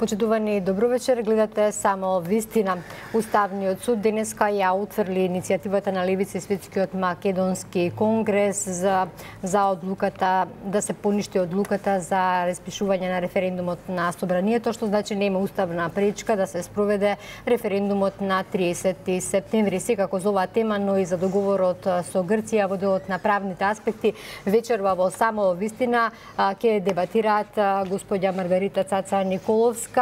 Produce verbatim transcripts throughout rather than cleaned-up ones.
Почитувани, добро вечер. Гледате само вистина. Уставниот суд денеска ја утврди иницијативата на Левица и Светскиот македонски конгрес за за одлуката да се поништи одлуката за распишување на референдумот на собранието, што значи нема уставна пречка да се спроведе референдумот на триесети септември. Секако за оваа тема, но и за договорот со Грција во делот на правните аспекти, вечерва во само вистина ќе дебатираат господја Маргарита Цаца Николовска,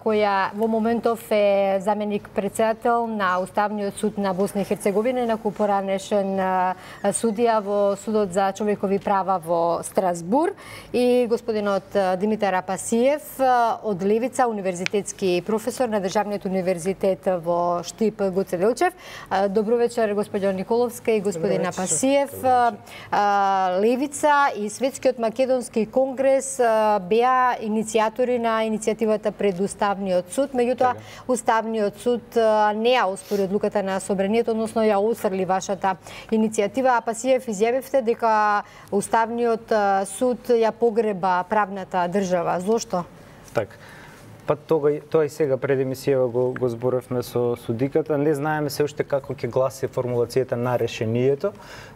која во моментов е заменик председател на Уставниот суд на Босна и Херцеговина, инаку поранешен судија во Судот за човекови права во Страсбур, и господинот Димитар Апасиев од Левица, универзитетски професор на Државниот универзитет во Штип Гоце Делчев. Добро вечер, господјо Николовска и господин Апасиев. Левица и Светскиот македонски конгрес беа иницијатори на иницијативата пред Уставниот суд, меѓутоа Уставниот суд не ја оспори одлуката на собранието, односно ја утврди вашата иницијатива. Апасиев, изјавивте дека Уставниот суд ја погреба правната држава. Зошто? Так. Па тога, тоа и сега пред емисијава го, го зборевме со судиката. Не знаеме се уште како ќе гласи формулацијата на решението,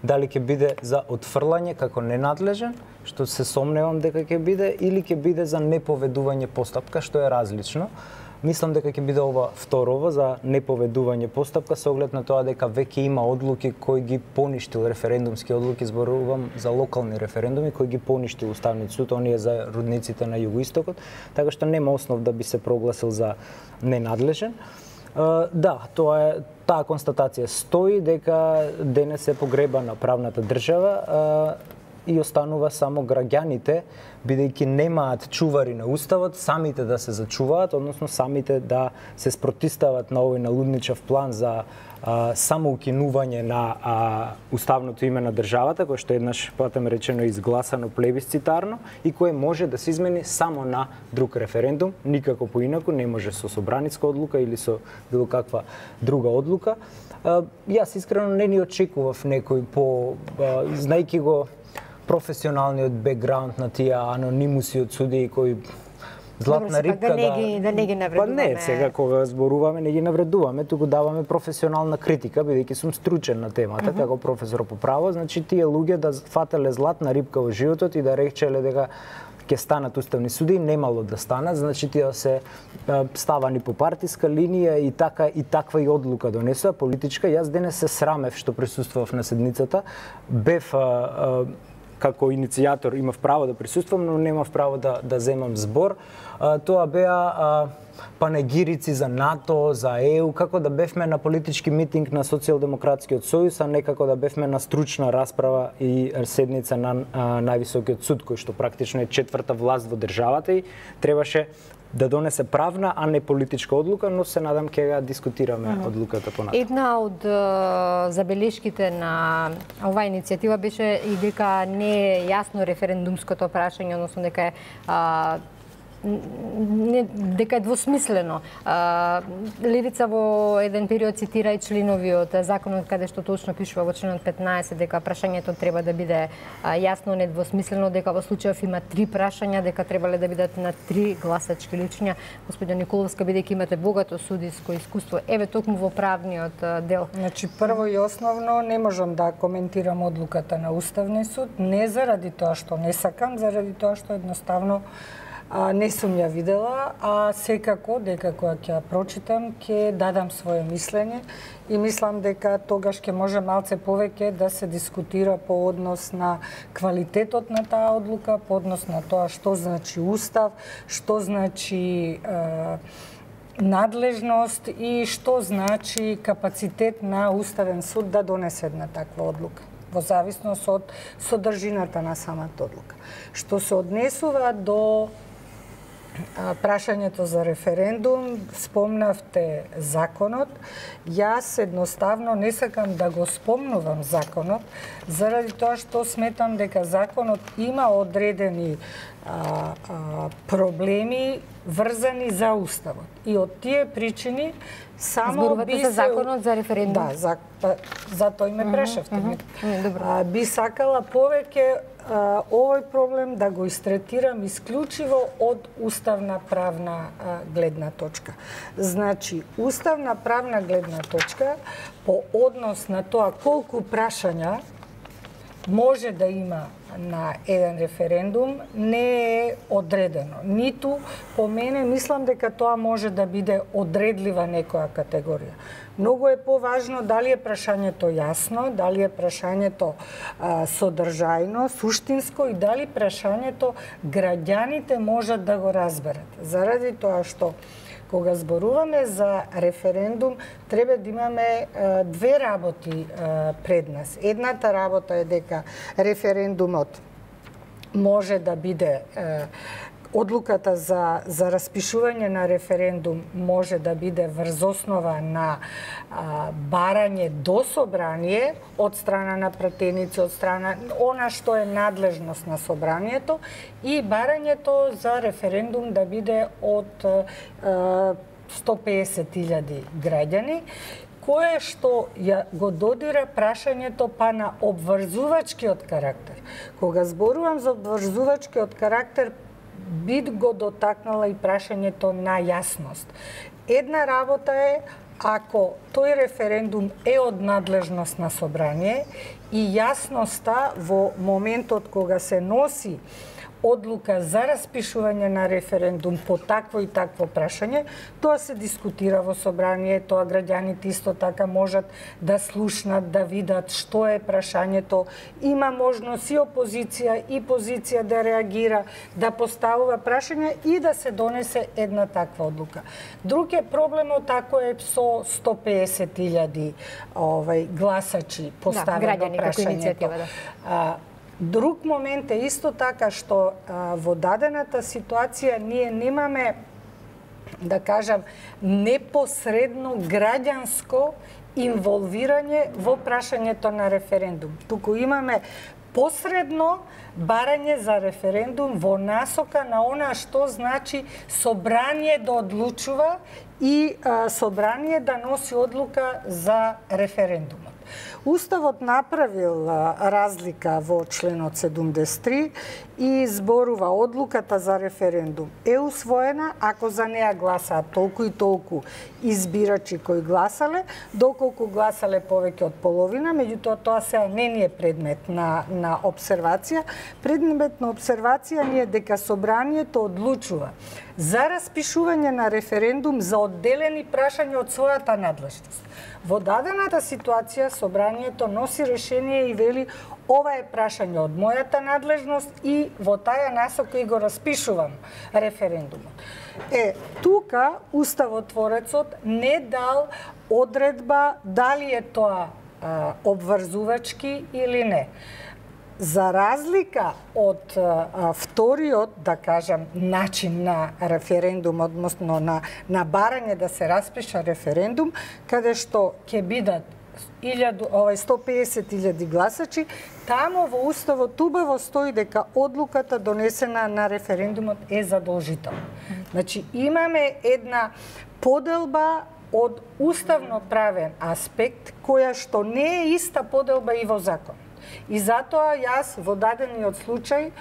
дали ќе биде за отфрлање како ненадлежен, што се сомневам дека ќе биде, или ќе биде за неповедување постапка, што е различно. Мислам дека ќе биде ова второво, за неповедување постапка, со оглед на тоа дека веќе има одлуки кои ги поништил, референдумски одлуки, зборувам за локални референдуми, кои ги поништил Уставниот суд, оние за родниците на југоистокот, така што нема основ да би се прогласил за ненадлежен. Да, тоа е, таа констатација стои дека денес е погребана правната држава и останува само граѓаните, бидејќи немаат чувари на Уставот, самите да се зачуваат, односно самите да се спротистават на овој налудничав план за а, самоукинување на а, уставното име на државата, кој што еднаш потем речено изгласано плебисцитарно и кое може да се измени само на друг референдум, никако поинаку, не може со собраниска одлука или со било каква друга одлука. А, јас искрено не ни очекував некој по, а, знајки го професионалниот бекграунд на тие анонимуси од судии кои златна рибка да не ги да не ги навредуваме. Па не, сега кога зборуваме не ги навредуваме, туку даваме професионална критика, бидејќи сум стручен на темата, mm -hmm. како професор по право, значи тие луѓе да фателе златна рибка во животот и да речеле дека ќе станат уставни суди, немало да станат, значи тие се ставани по партиска линија и така и таква и одлука донесува политичка. Јас денес се срамев што присуствував на седницата, бев а, а, како иницијатор имав право да присуствувам, но немав право да да земам збор. А, тоа беа а, панегирици за НАТО, за Е У, како да бевме на политички митинг на Социјалдемократскиот сојуз, а не како да бевме на стручна расправа и седница на а, највисокиот суд, кој што практично е четврта власт во државата и требаше да донесе правна, а не политичка одлука, но се надам ќе ја дискутираме mm -hmm. одлуката понатаму. Една од uh, забелешките на оваа иницијатива беше и дека не е јасно референдумското прашање, односно дека е uh, не, дека е двосмислено. А, Левица во еден период цитира и членови од законот каде што точно пишува во членот петнаесет дека прашањето треба да биде а, јасно, недвосмислено, дека во случајов има три прашања, дека требале да бидат на три гласачки личња. Господјо Николовска, бидејќи имате богато судиско искуство, еве токму во правниот дел. Значи, прво и основно не можам да коментирам одлуката на Уставниот суд, не заради тоа што не сакам, заради тоа што едноставно А, не сум ја видела, а секако дека кога ќе ја прочитам, ќе дадам своје мислење и мислам дека тогаш ќе може малце повеќе да се дискутира по однос на квалитетот на таа одлука, по однос на тоа што значи устав, што значи е, надлежност и што значи капацитет на Уставен суд да донесе една таква одлука, во зависност од содржината на самата одлука. Што се однесува до прашањето за референдум, спомнавте законот. Јас едноставно не сакам да го спомнувам законот, заради тоа што сметам дека законот има одредени а, а, проблеми врзани за уставот. И од тие причини само Зборувате би за се... законот за референдум? Да, за, па, за тој ме прашавте. Mm -hmm. Добро. А, би сакала повеќе а, овој проблем да го истретирам исклучиво од уставна правна а, гледна точка. Значи, уставна правна гледна точка по однос на тоа колку прашања може да има на еден референдум не е одредено. Ниту по мене мислам дека тоа може да биде одредлива некоја категорија. Многу е поважно дали е прашањето јасно, дали е прашањето а, содржајно, суштинско и дали прашањето граѓаните можат да го разберат. Заради тоа што кога зборуваме за референдум, треба да имаме а, две работи а, пред нас. Едната работа е дека референдумот може да биде а, одлуката за, за распишување на референдум може да биде врз основа на а, барање до собрание од страна на пратеници, од страна она што е надлежност на собранието и барањето за референдум да биде од а, сто пеесет илјади граѓани, кое што ја го додира прашањето па на обврзувачкиот карактер. Кога зборувам за обврзувачкиот карактер, би го дотакнала и прашањето на јасност. Една работа е ако тој референдум е од надлежност на собрание и јасноста во моментот кога се носи одлука за распишување на референдум по такво и такво прашање, тоа се дискутира во собрание, тоа граѓаните исто така можат да слушнат, да видат што е прашањето, има можност и опозиција и позиција да реагира, да поставува прашања и да се донесе една таква одлука. Друг е проблемот ако е со сто пеесет илјади овај гласачи поставено да, прашањето. Да. Друг момент е исто така што а, во дадената ситуација ние немаме, да кажам, непосредно граѓанско инволвирање во прашањето на референдум. Туку имаме посредно барање за референдум во насока на она што значи собрание да одлучува и а, собрание да носи одлука за референдумот. Уставот направил а, разлика во членот седумдесет и три и зборува одлуката за референдум е усвоена ако за неа гласаат толку и толку избирачи кои гласале, доколку гласале повеќе од половина, меѓутоа тоа сега не ни е предмет на, на обсервација. Предмет на обсервација ни е дека собранието одлучува за распишување на референдум за одделени прашања од својата надлежност. Во дадената ситуација собранието носи решение и вели ова е прашање од мојата надлежност и во таа насока и го распишувам референдумот. Е, тука уставотворецот не дал одредба дали е тоа а, обврзувачки или не. За разлика од а, вториот, да кажам, начин на референдум, односно на, на барање да се распиша референдум, каде што ќе бидат сто пеесет илјади гласачи, тамо во уставот убаво стои дека одлуката донесена на референдумот е задолжителна. Значи имаме една поделба од уставно-правен аспект која што не е иста поделба и во закон. И затоа јас во дадениот случај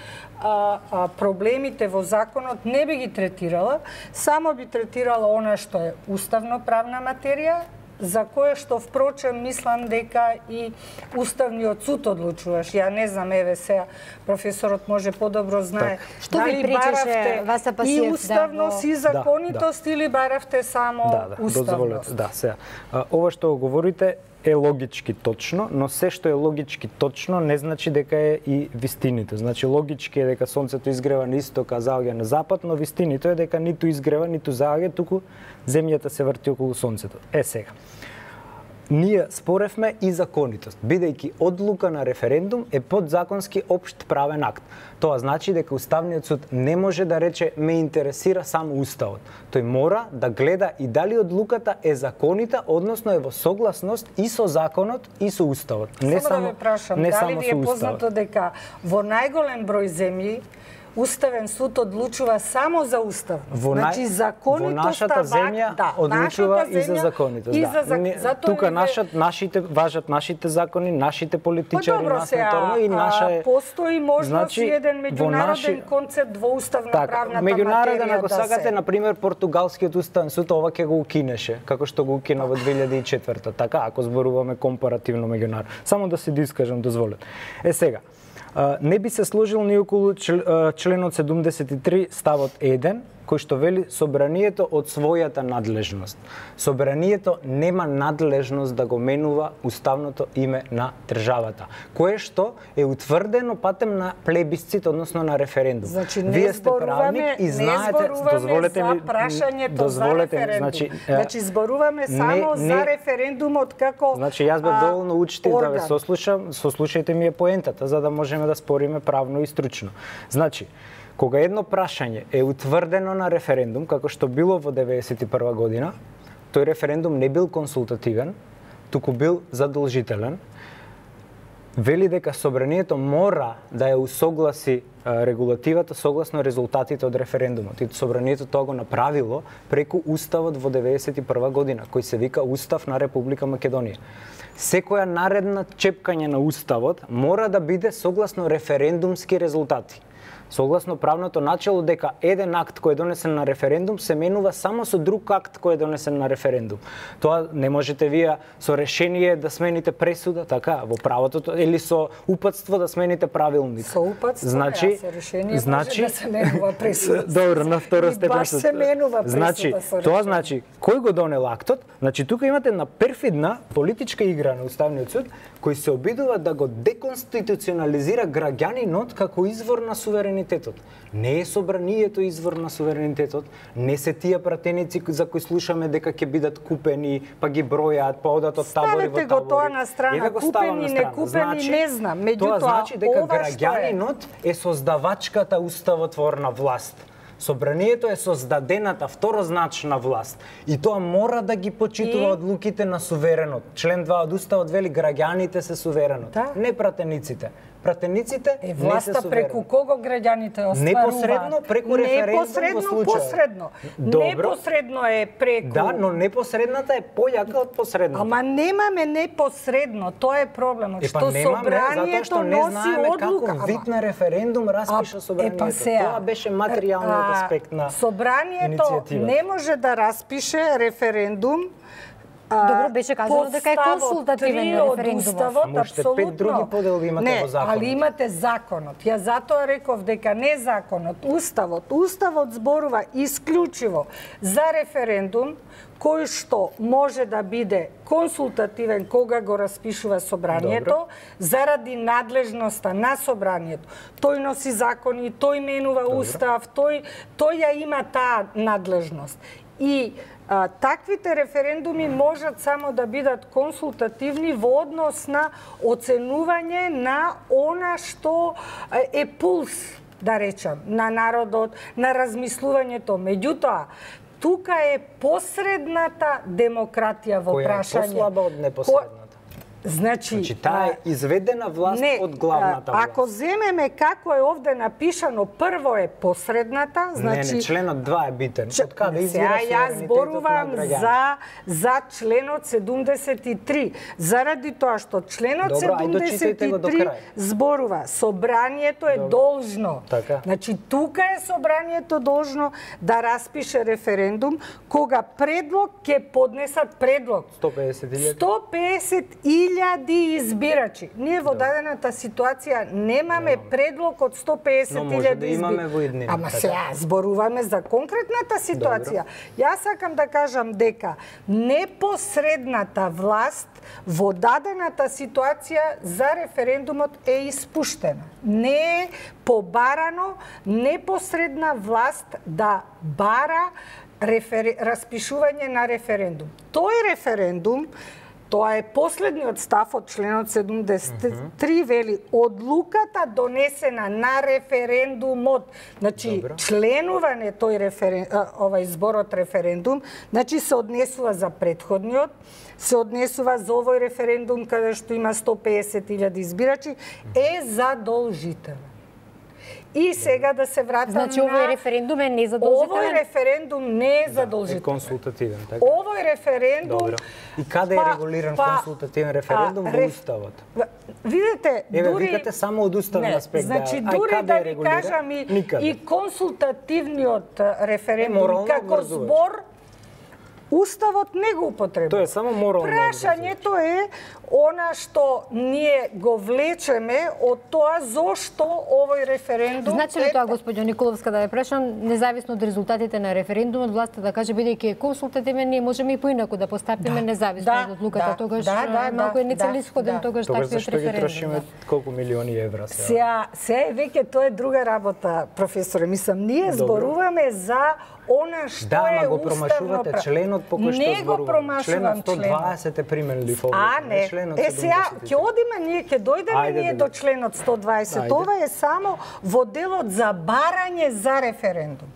а, а, проблемите во законот не би ги третирала, само би третирала она што е уставно-правна материја, за кое што впрочем мислам дека и Уставниот суд одлучуваш. Ја не знам, еве сега професорот може подобро знае. Так. Што ви пречеше Васа Пасиев и уставност да, и законитост да, да. или баравте само да, да, уставност? Да, сега. А, ова што го говорите е логички точно, но се што е логички точно не значи дека е и вистинито. Значи логички е дека сонцето изгрева на исток, а заоѓа на запад, но вистинито е дека ниту изгрева, ниту заоѓа, туку земјата се врти околу сонцето. Е сега. Ние споревме и законитост, бидејќи одлука на референдум е подзаконски општ правен акт. Тоа значи дека Уставниот суд не може да рече ме интересира само уставот. Тој мора да гледа и дали одлуката е законита, односно е во согласност и со законот и со уставот. Не само, само да ве прашам, не дали само ви е познато дека во најголем број земји Уставен суд одлучува само за устав. Во, значи законите во нашата земја да, одлучува нашата и за законите. И да. за, Не, затоа тука е... нашат, нашите важат нашите закони, нашите политичари, па, добро, насметорно и наша е... Постои можност значи, и еден меѓународен наши... концепт во уставна так, правната меѓународен, материја ако да сакате, се... на пример, португалскиот уставен суд ова ќе го укинеше, како што го укина во две илјади и четврта. Така, ако зборуваме компаративно меѓународно. Само да се дискажам, дозволете. Е сега, не би се сложил ни околу членот седумдесет и три ставот еден, кој што вели собранието од својата надлежност. Собранието нема надлежност да го менува уставното име на државата, кое што е утврдено патем на плебисцит, односно на референдум. Значи, не Вие сте правник и знаете, дозволете ми, за прашањето дозволете за референдум. Значи, значи зборуваме само не, не, за референдумот како Значи јас бев доволно учтив да ве сослушам, сослушајте ми е поентата за да можеме да спориме правно и стручно. Значи, кога едно прашање е утврдено на референдум, како што било во деветдесет и прва година, тој референдум не бил консултативен, туку бил задолжителен, вели дека собранието мора да ја усогласи регулативата согласно резултатите од референдумот. И собранието тоа го направило преку Уставот во деветдесет и прва година, кој се вика Устав на Република Македонија. Секоја наредна чепкање на Уставот мора да биде согласно референдумски резултати. Согласно правното начело дека еден акт кој е донесен на референдум се менува само со друг акт кој е донесен на референдум. Тоа не можете вие со решение да смените пресуда, така, во правото, или со упатство да смените правилник. Со упатство, значи, не, со решение значи, може да се менува пресуда. Добро, на втора степен. Баш се менува пресуда значи, со тоа значи, кој го донел актот? Значи, тука имате една перфидна политичка игра на Уставниот суд, кој се обидува да го деконституционализира граѓанинот како извор на суверенитетот. Не е собранието извор на суверенитетот, не се тие пратеници за кои слушаме дека ќе бидат купени, па ги бројаат, па одат од табори во табори. Ставете го тоа на страна, купени, не купени, значи, не знам. Меѓутоа, тоа значи дека ова граѓанинот е создавачката уставотворна власт. Собранието е создадената второзначна власт и тоа мора да ги почитува и... одлуките на суверенот. Член два од Уставот вели граѓаните се суверенот, да. Не пратениците. Пратениците е власта преку кого граѓаните остваруваат? Непосредно преку референдум во случај. Непосредно, непосредно е преку. Да, но непосредната е појака од посредната. Ама немаме непосредно, тоа е проблемот. Е, па, што немаме, собранието не носи одлука. Како вид на референдум распиша собранието. Е, па сега, тоа беше материјалниот аспект на собранието не може да распише референдум. Добро, беше казано дека е консултативен референдумот. Ама уште пет други поделби имате не, во законот. али имате законот. Ја затоа реков дека не законот, Уставот. Уставот зборува исклучиво за референдум кој што може да биде консултативен кога го распишува собранието. Добро. Заради надлежноста на собранието. Тој носи закони, тој менува Добро. Устав, тој, тој ја има таа надлежност. И А, таквите референдуми можат само да бидат консултативни во однос на оценување на она што е пулс, да речам, на народот, на размислувањето. Меѓутоа, тука е посредната демократија во која прашање. Која е послаба од непосредната? Значи, значи таа е изведена власт не, од главната власт. Ако земеме како е овде напишано, прво е посредната, значи Не, не, членот два е битен. Од каде извира јас зборувам за за членот седумдесет и три. Заради тоа што членот Добро, седумдесет и три зборува собранието е Добро. должно. Така. Значи тука е собранието должно да распише референдум кога предлог ќе поднесат предлог. сто пеесет илјади сто пеесет илјади избирачи. Ние во дадената ситуација немаме предлог од сто пеесет илјади избирачи. Ама сега зборуваме за конкретната ситуација. Добро. Јас сакам да кажам дека непосредната власт во дадената ситуација за референдумот е испуштена. Не е побарано непосредна власт да бара рефер... распишување на референдум. Тој референдум, тоа е последниот став од членот седумдесет и три, вели одлуката донесена на референдумот. Значи, Добро. членување тој референ... овај зборот референдум, значи се однесува за претходниот, се однесува за овој референдум каде што има сто пеесет илјади избирачи, е задолжителен. И сега да се вратам значи, на... Значи овој референдум е незадолжителен? Овој референдум не е задолжителен. Да, е консултативен, така? Овој референдум... Добро. И каде па, е регулиран па, консултативен референдум во реф... Уставот? Видете, Еве, дури... викате само од уставен аспект. Значи, да, дури ај, да е ви регулиран? кажам и, Никаде. и консултативниот референдум е, како збор, Уставот не го употребува. Тоа е само морално. Прашањето е она што ние го влечеме од тоа зошто овој референдум... Значи ли тоа, господио Николовска, да ја прашам, независно од резултатите на референдумот, власта да каже, бидејќи е консултативен, ние можеме и поинаку да постапиме да, независно да, од одлуката, да, тогаш да, да, малку е да, нецелисходен да. тогаш Тогаш таквиот зашто ги референдум. трошиме Да. колку милиони евра сега? Сега, сега е веќе тоа е друга работа, професоре. Мислам, ние зборуваме за она што да, е го уставно промашувате право. членот по кој што не го промашувам членот сто дваесет е применли фолио. А, не. Е, сега, ќе одиме, ние ќе дојдеме Ајде, ние да до членот сто дваесет. Ајде. Ова е само во делот за барање за референдум.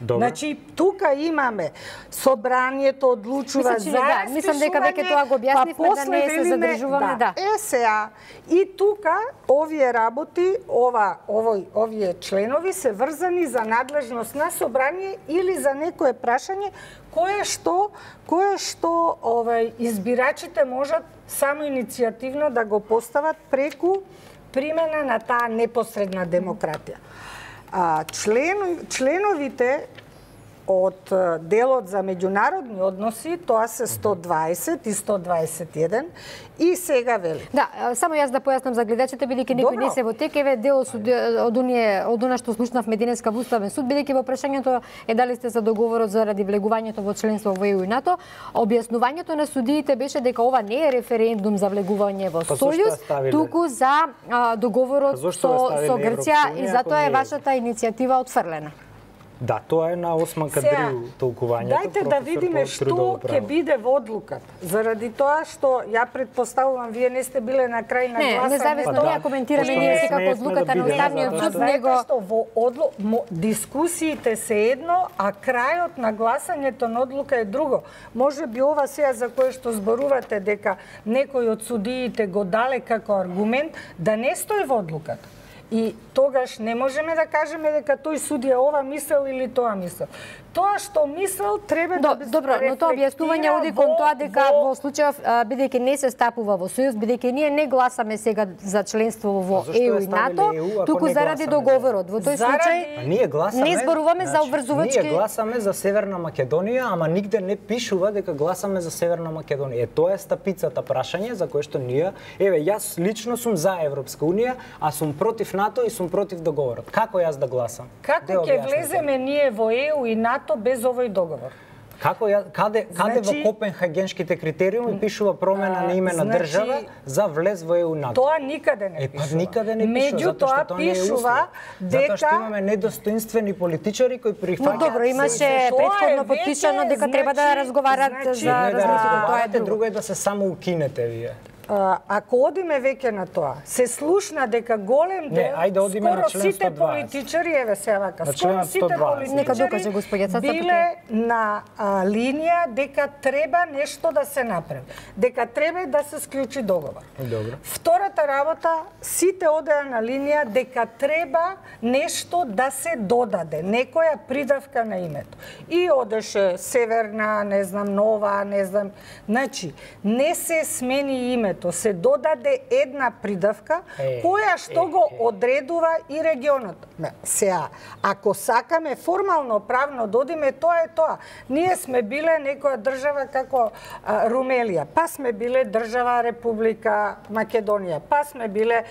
Добро. Значи, тука имаме собранието одлучува Мислам, за да, распишување, мислам дека веќе тоа го објаснивме, па да после не се велиме, задржуваме, да. Е, сега, и тука овие работи, ова, овој, овие членови се врзани за надлежност на собрание или за некое прашање кое што, кое што овај, избирачите можат само иницијативно да го постават преку примена на таа непосредна демократија. А, член, членовите од делот за меѓународни односи, тоа се сто дваесет и сто дваесет и еден, и сега вели. Да, само јас да појаснам за гледачите, бидејќи некој не се во тек, еве дел од оние од она што слушнавме денеска во Уставен суд, бидејќи во прашањето е дали сте за договорот заради влегувањето во членство во Е У и НАТО, објаснувањето на судиите беше дека ова не е референдум за влегување во Сојуз, туку за а, договорот со, со Грција и затоа е вашата иницијатива отфрлена. Да, тоа е на осма кадрил толкувањето. Дајте да видиме што ќе биде во одлуката. Заради тоа што ја претпоставувам вие не сте биле на крај на гласање. Не, независно тоа ја коментираме ние секако одлуката на Уставниот суд, него што во одлу... дискусиите се едно, а крајот на гласањето на одлука е друго. Може би ова сега за кое што зборувате дека некој од судиите го дале како аргумент да не стои во одлуката. И тогаш не можеме да кажеме дека тој судија ова мислел или тоа мислел. Тоа што мислел треба До, да се добро, но тоа објаснување оди кон тоа дека во, во случајов бидејќи не се стапува во Сојуз, бидејќи ние не гласаме сега за членство во Е У и НАТО, туку заради договорот. Во тој случај ние гласаме, не зборуваме значи, за обврзувачки. Ние гласаме за Северна Македонија, ама нигде не пишува дека гласаме за Северна Македонија. Е, тоа е стапицата прашање за кое што ние, еве, јас лично сум за Европска унија, а сум против НАТО и сум против договорот. Како јас да гласам? Како ќе влеземе ние во Е У и НАТО без овој договор? Како ја, каде каде Значи, во Копенхагенските критериуми пишува промена а, на име на значи, држава за влез во Е У и НАТО? Тоа никаде не Е, пишува. па никаде не пишува, Меѓутоа затоа што тоа не е пишува услов. дека Затоа што имаме недостоинствени политичари кои прифаќаат. Но добро, имаше претходно потпишано дека треба да разговарат значи, за Едно е да развитието, тоа е разговарате, друго. друго е да се само укинете вие. Ако одиме веќе на тоа, се слушна дека голем дел, Не, ајде одиме на скоро член сите сто дваесет. политичари, еве се вака, На скоро член сите сто дваесет. Нека докаже господја Цаца, биле на а, линија дека треба нешто да се направи, дека треба да се склучи договор. Добро. Втората работа, сите одеа на линија дека треба нешто да се додаде, некоја придавка на името. И одеше Северна, не знам, Нова, не знам. Значи, не се смени името, се додаде една придавка е, која што е, го е. одредува и регионот. Сеа, ако сакаме формално правно додиме, тоа е тоа. Ние сме биле некоја држава како а, Румелија, па сме биле држава Република Македонија, па сме биле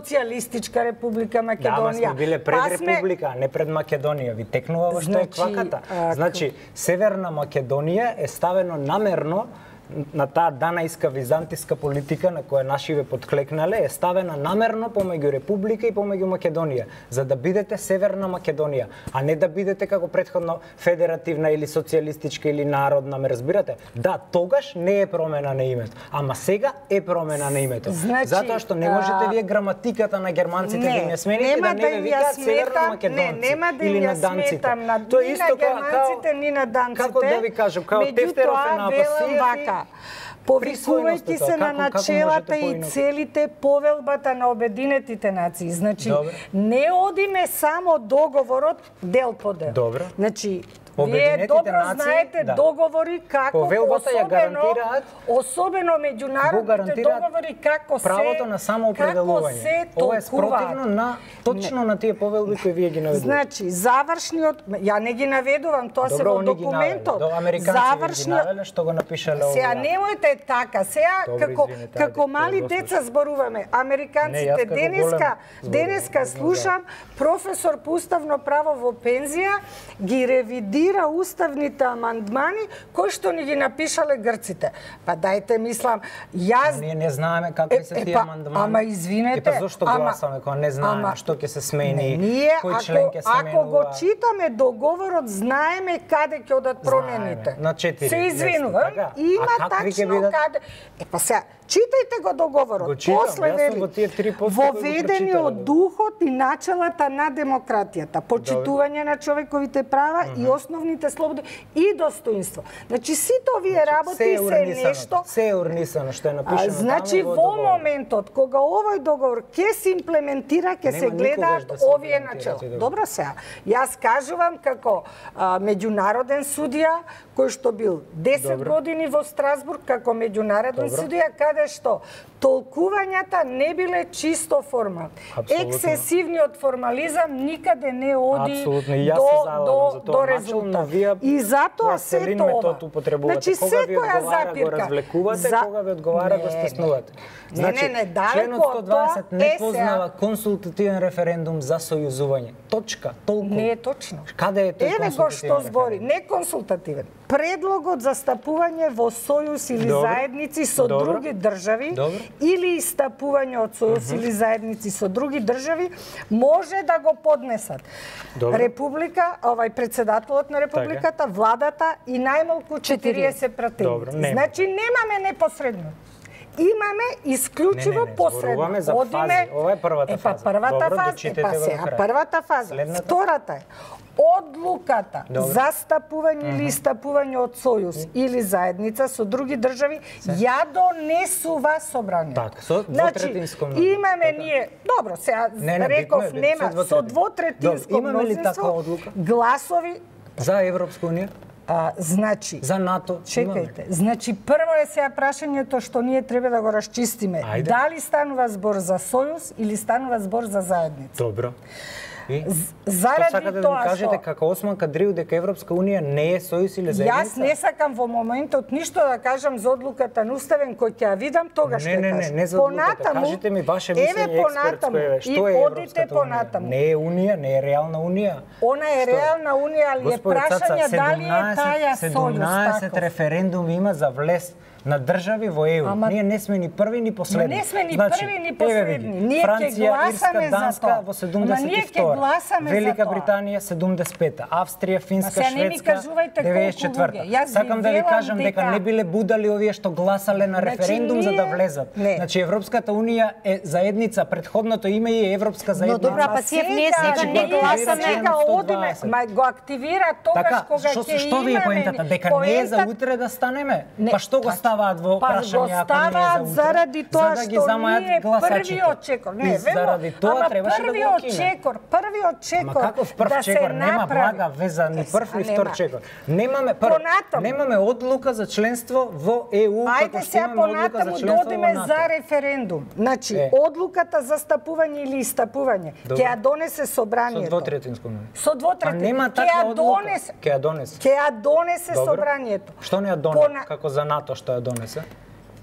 Социјалистичка Република Македонија. Да, ама сме биле пред па сме... Република, а не пред Македонија. Ви текнува во што Значи, е кваката. а, Значи, Северна Македонија е ставено намерно на таа данајска византиска политика на која нашиве подклекнале, е ставена намерно помеѓу Република и помеѓу Македонија, за да бидете Северна Македонија, а не да бидете како претходно федеративна или социјалистичка или народна, ме разбирате? Да, тогаш не е промена на името, ама сега е промена на името. Значи, затоа што не можете вие граматиката на германците не, да не смените, нема да не да ве им ја викаат сметам, Северно Македонци не, нема да им или ја на данците. сметам на, Тоа ни исто на како- германците, ни на данците. Како да ви кажам, као Тефтеров е на Меѓутоа, велам Апасиев и- вака, повикувајќи се на начелата и целите повелбата на Обединетите нации. Значи, Добре. не одиме само договорот дел по дел. Добре. Значи, вие добро нации, знаете да. договори како Повелбата ја гарантираат, особено меѓународните договори како се правото на самоопределување. Ова е спротивно на точно не. на тие повелби кои вие ги наведувате. Значи, завршниот, ја не ги наведувам, тоа се во документот. До американци ги навеле што го напишале ова. Сега немојте така, сега Добре, како извинете, како ајде, мали деца зборуваме. Американците не, денеска голем, денеска слушам професор по уставно право во пензија ги ревидира уставните амандмани кои што ни ги напишале грците. Па дајте мислам, јас ние не знаеме какви се тие амандмани. Ама извинете, и па зошто гласаме кога не знаеме ама, што ќе се смени, не, ние, кој член ќе се менува. Ако го читаме договорот, знаеме каде ќе одат промените. На четири. Се извинувам, така. има тачно каде. Е па сега, читајте го договорот. Го читам, после вели, во тие три воведени од духот и началата на демократијата, почитување на човековите права mm -hmm. и основните слободи и достоинство. Значи сите овие работи се, се нешто се е урнисано што е напишано. Значи во, во моментот кога овој договор ќе се имплементира, ќе се гледаат да се овие начела. Добро сега. Јас кажувам како а, меѓународен судија кој што бил десет Добро. години во Страсбург како меѓународен судија, каде што толкувањата не биле чисто формални. Ексесивниот формализам никаде не оди до до до резултат. И затоа се тоа. Значи секоја запирка го развлекувате, за... кога ви одговара не, го стеснувате. Значи, не, не, не, членот сто дваесет не познава консултативен референдум за сојузување. Точка, толку. Не е точно. Каде е тој Еве го што збори, не консултативен. Предлогот за стапување во сојуз или Добре. заедници со Добре. други држави Добре. или истапување од сојуз uh -huh. или заедници со други држави може да го поднесат Добре. Република, овај председателот на републиката, така. владата и најмалку четириесет пратеници. Значи немаме непосредно. Имаме исклучиво не, не, не, посредно. За Одиме, ова е првата фаза. Епа првата Добро, фаза, епа сега првата фаза. Следната? Втората е одлуката Добре. за стапување uh -huh. или истапување од сојуз uh -huh. или заедница со други држави Се? ја донесува собранието. Така, со двотретинско мнозинство. Значи, имаме така. ние, добро, сега не, не, реков битно, нема со двотретинско мнозинство гласови за Европска унија. А, значи, за НАТО. Чекајте. Значи прво е сега прашањето што ние треба да го расчистиме. Ајде. Дали станува збор за сојуз или станува збор за заедница? Добро. И? Заради сакате да тоа ми кажете што... како Осман Кадрiju дека Европска унија не е сојуз или заедница? Јас не сакам во моментот ништо да кажам за одлуката на Уставен кој ќе ја видам тогаш ќе кажам. Не, не, не, не за одлуката. Кажете ми ваше мислење експертско е. Што е Европската унија? Не е унија, не е реална унија. Она е реална унија, али е прашање дали е таја сојуз. седумнаесет референдуми има за влез на држави во Е У. Ама... Ние не сме ни први ни последни. Не сме ни значи, први ни последни. Ние Франција, ќе гласаме Ирска, Данска за тоа. во седумдесет и втора. Велика Британија седумдесет и пета. Австрија, Финска, Шведска деветдесет и четврта. Сакам да ви кажам дека... дека не биле будали овие што гласале на референдум значи, ние... за да влезат. Не. Значи Европската унија е заедница, претходното име е Европска заедница. Но добра, па сие ние сега не гласаме. Сега одиме, ма го активира тогаш така, кога ќе имаме. Што ви е поентата? Дека не е за утре да станеме? Па што го ставаат во Го ставаат заради тоа за да што ние првиот чекор. Не, заради тоа требаше да го укине. Чекор, првиот чекор. Ама каков прв да чекор? Нема блага веза ни прв ни втор чекор. Немаме прв, немаме одлука за членство во Е У, како што имаме одлука за членство во НАТО. За референдум. Значи, е. одлуката за стапување или истапување ќе ја донесе собранието. Со двотретинско мнозинство. Со двотретинско. Нема таква одлука. Ќе ја донесе. Ќе ја донесе собранието. Што не ја донесе како за НАТО што ја донесе?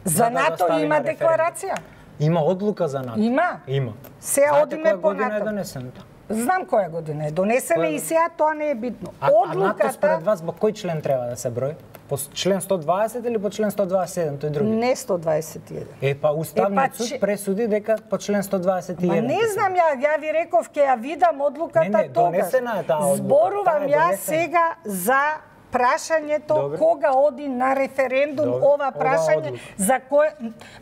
За НАТО да има декларација. Има одлука за НАТО. Има. Има. Сега одиме по НАТО. Е донесено. Знам која година е донесена и сега тоа не е битно. А, Одлуката... а НАТО според вас по кој член треба да се брои? По член сто дваесет или по член сто дваесет и еден, тој други? Не сто дваесет и еден. Е, па Уставниот суд че... пресуди дека по член сто дваесет и еден. Ма не знам, ја, ја ви реков, ќе ја видам одлуката не, не, тогаш. Донесена е таа одлука. Зборувам ја сега за прашањето Добре. кога оди на референдум Добре. ова прашање Ова за кое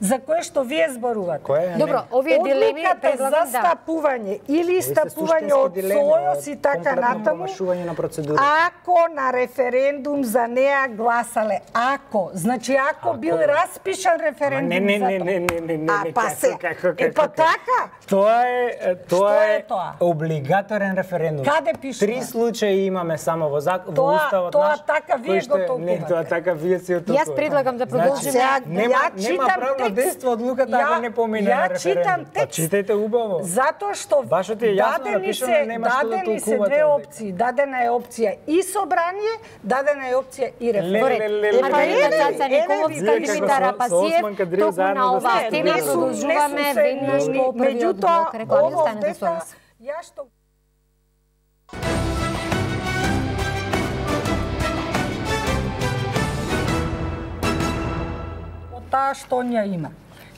за кое што вие зборувате. Кое е? Добро, овие дилеми Одлуката предлагам за да. стапување или сте стапување суштински од дилеми, Сојоз ова е и така комплетно натаму. промашување на процедура. Ако на референдум за неа гласале, ако, значи ако, Ако. бил распишан референдум не, не, за не, тоа. не, не, не, не, А, не, па како, се, како, е како, па како. така. Тоа е тоа Што е е тоа? облигаторен референдум. Каде пишува? Три случаи имаме само во зак... во Тоа- уставот тоа наш. така вие кој го што- толкувате. Не, тоа така вие си го толкувате. Јас предлагам да продолжиме. Сега, Нема, ја нема читам правно текст. дејство одлуката ако Ја- не помине ја на референдум. читам Па текст. читајте убаво. Затоа што Башо ти е јасно дадени напишано, се, нема што да дадени се толкувате две овде. опции. Дадена е опција и собрание, дадена е опција и референдум. Леле, Добре, леле, леле, Маргарита леле. Цаца Еве, Николовска, еве, Димитар како со- Апасиев, со Осман Кадриев токму заедно на да оваа се тема не су- продолжуваме не су се веднаш ни- по првиот меѓутоа, блок реклами. ово Останете овде со нас. Ја што од таа што ја има.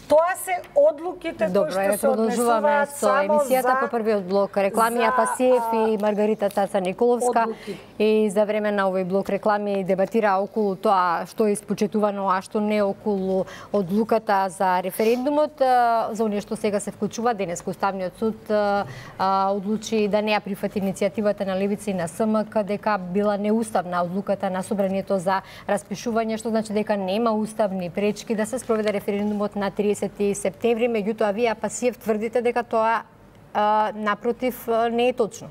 Тоа се одлуките Добро, кои еве што се продолжуваме однесуваат со само емисијата за по првиот блок реклами за, Апасиев а, и Маргарита Цаца Николовска. одлуки. И за време на овој блок реклами дебатира околу тоа што е испочетувано, а што не околу одлуката за референдумот. А, За оние што сега се вклучува, денес Уставниот суд а, а, одлучи да не ја прифати иницијативата на Левица и на СМК дека била неуставна одлуката на собранието за распишување, што значи дека нема уставни пречки да се спроведе референдумот на триесети септември. Меѓутоа, вие Апасиев тврдите дека тоа а, напротив а, не е точно.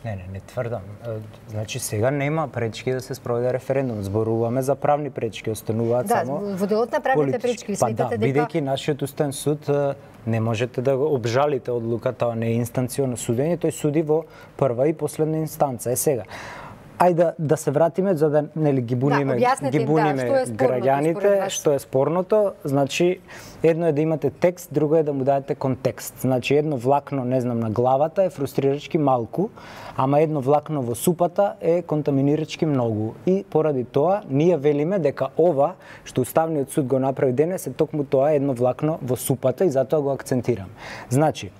Не, не, не тврдам. Е, Значи сега нема пречки да се спроведе референдум. Зборуваме за правни пречки, остануваат Да, само во делот на правните политички. пречки, ви Па сметате да, дека бидејќи нашиот уставен суд е, не можете да го обжалите одлуката, тоа не е инстанционо судење, тој суди во прва и последна инстанца. Е сега. Ајде да, да се вратиме за да нели ги буниме, објаснете ги им, да, буниме што е спорното според граѓаните, вас? што е спорното. Значи едно е да имате текст, друго е да му дадете контекст. Значи едно влакно, не знам, на главата е фрустрирачки малку, ама едно влакно во супата е контаминирачки многу. И поради тоа ние велиме дека ова што Уставниот суд го направи денес е токму тоа едно влакно во супата и затоа го акцентирам. Значи,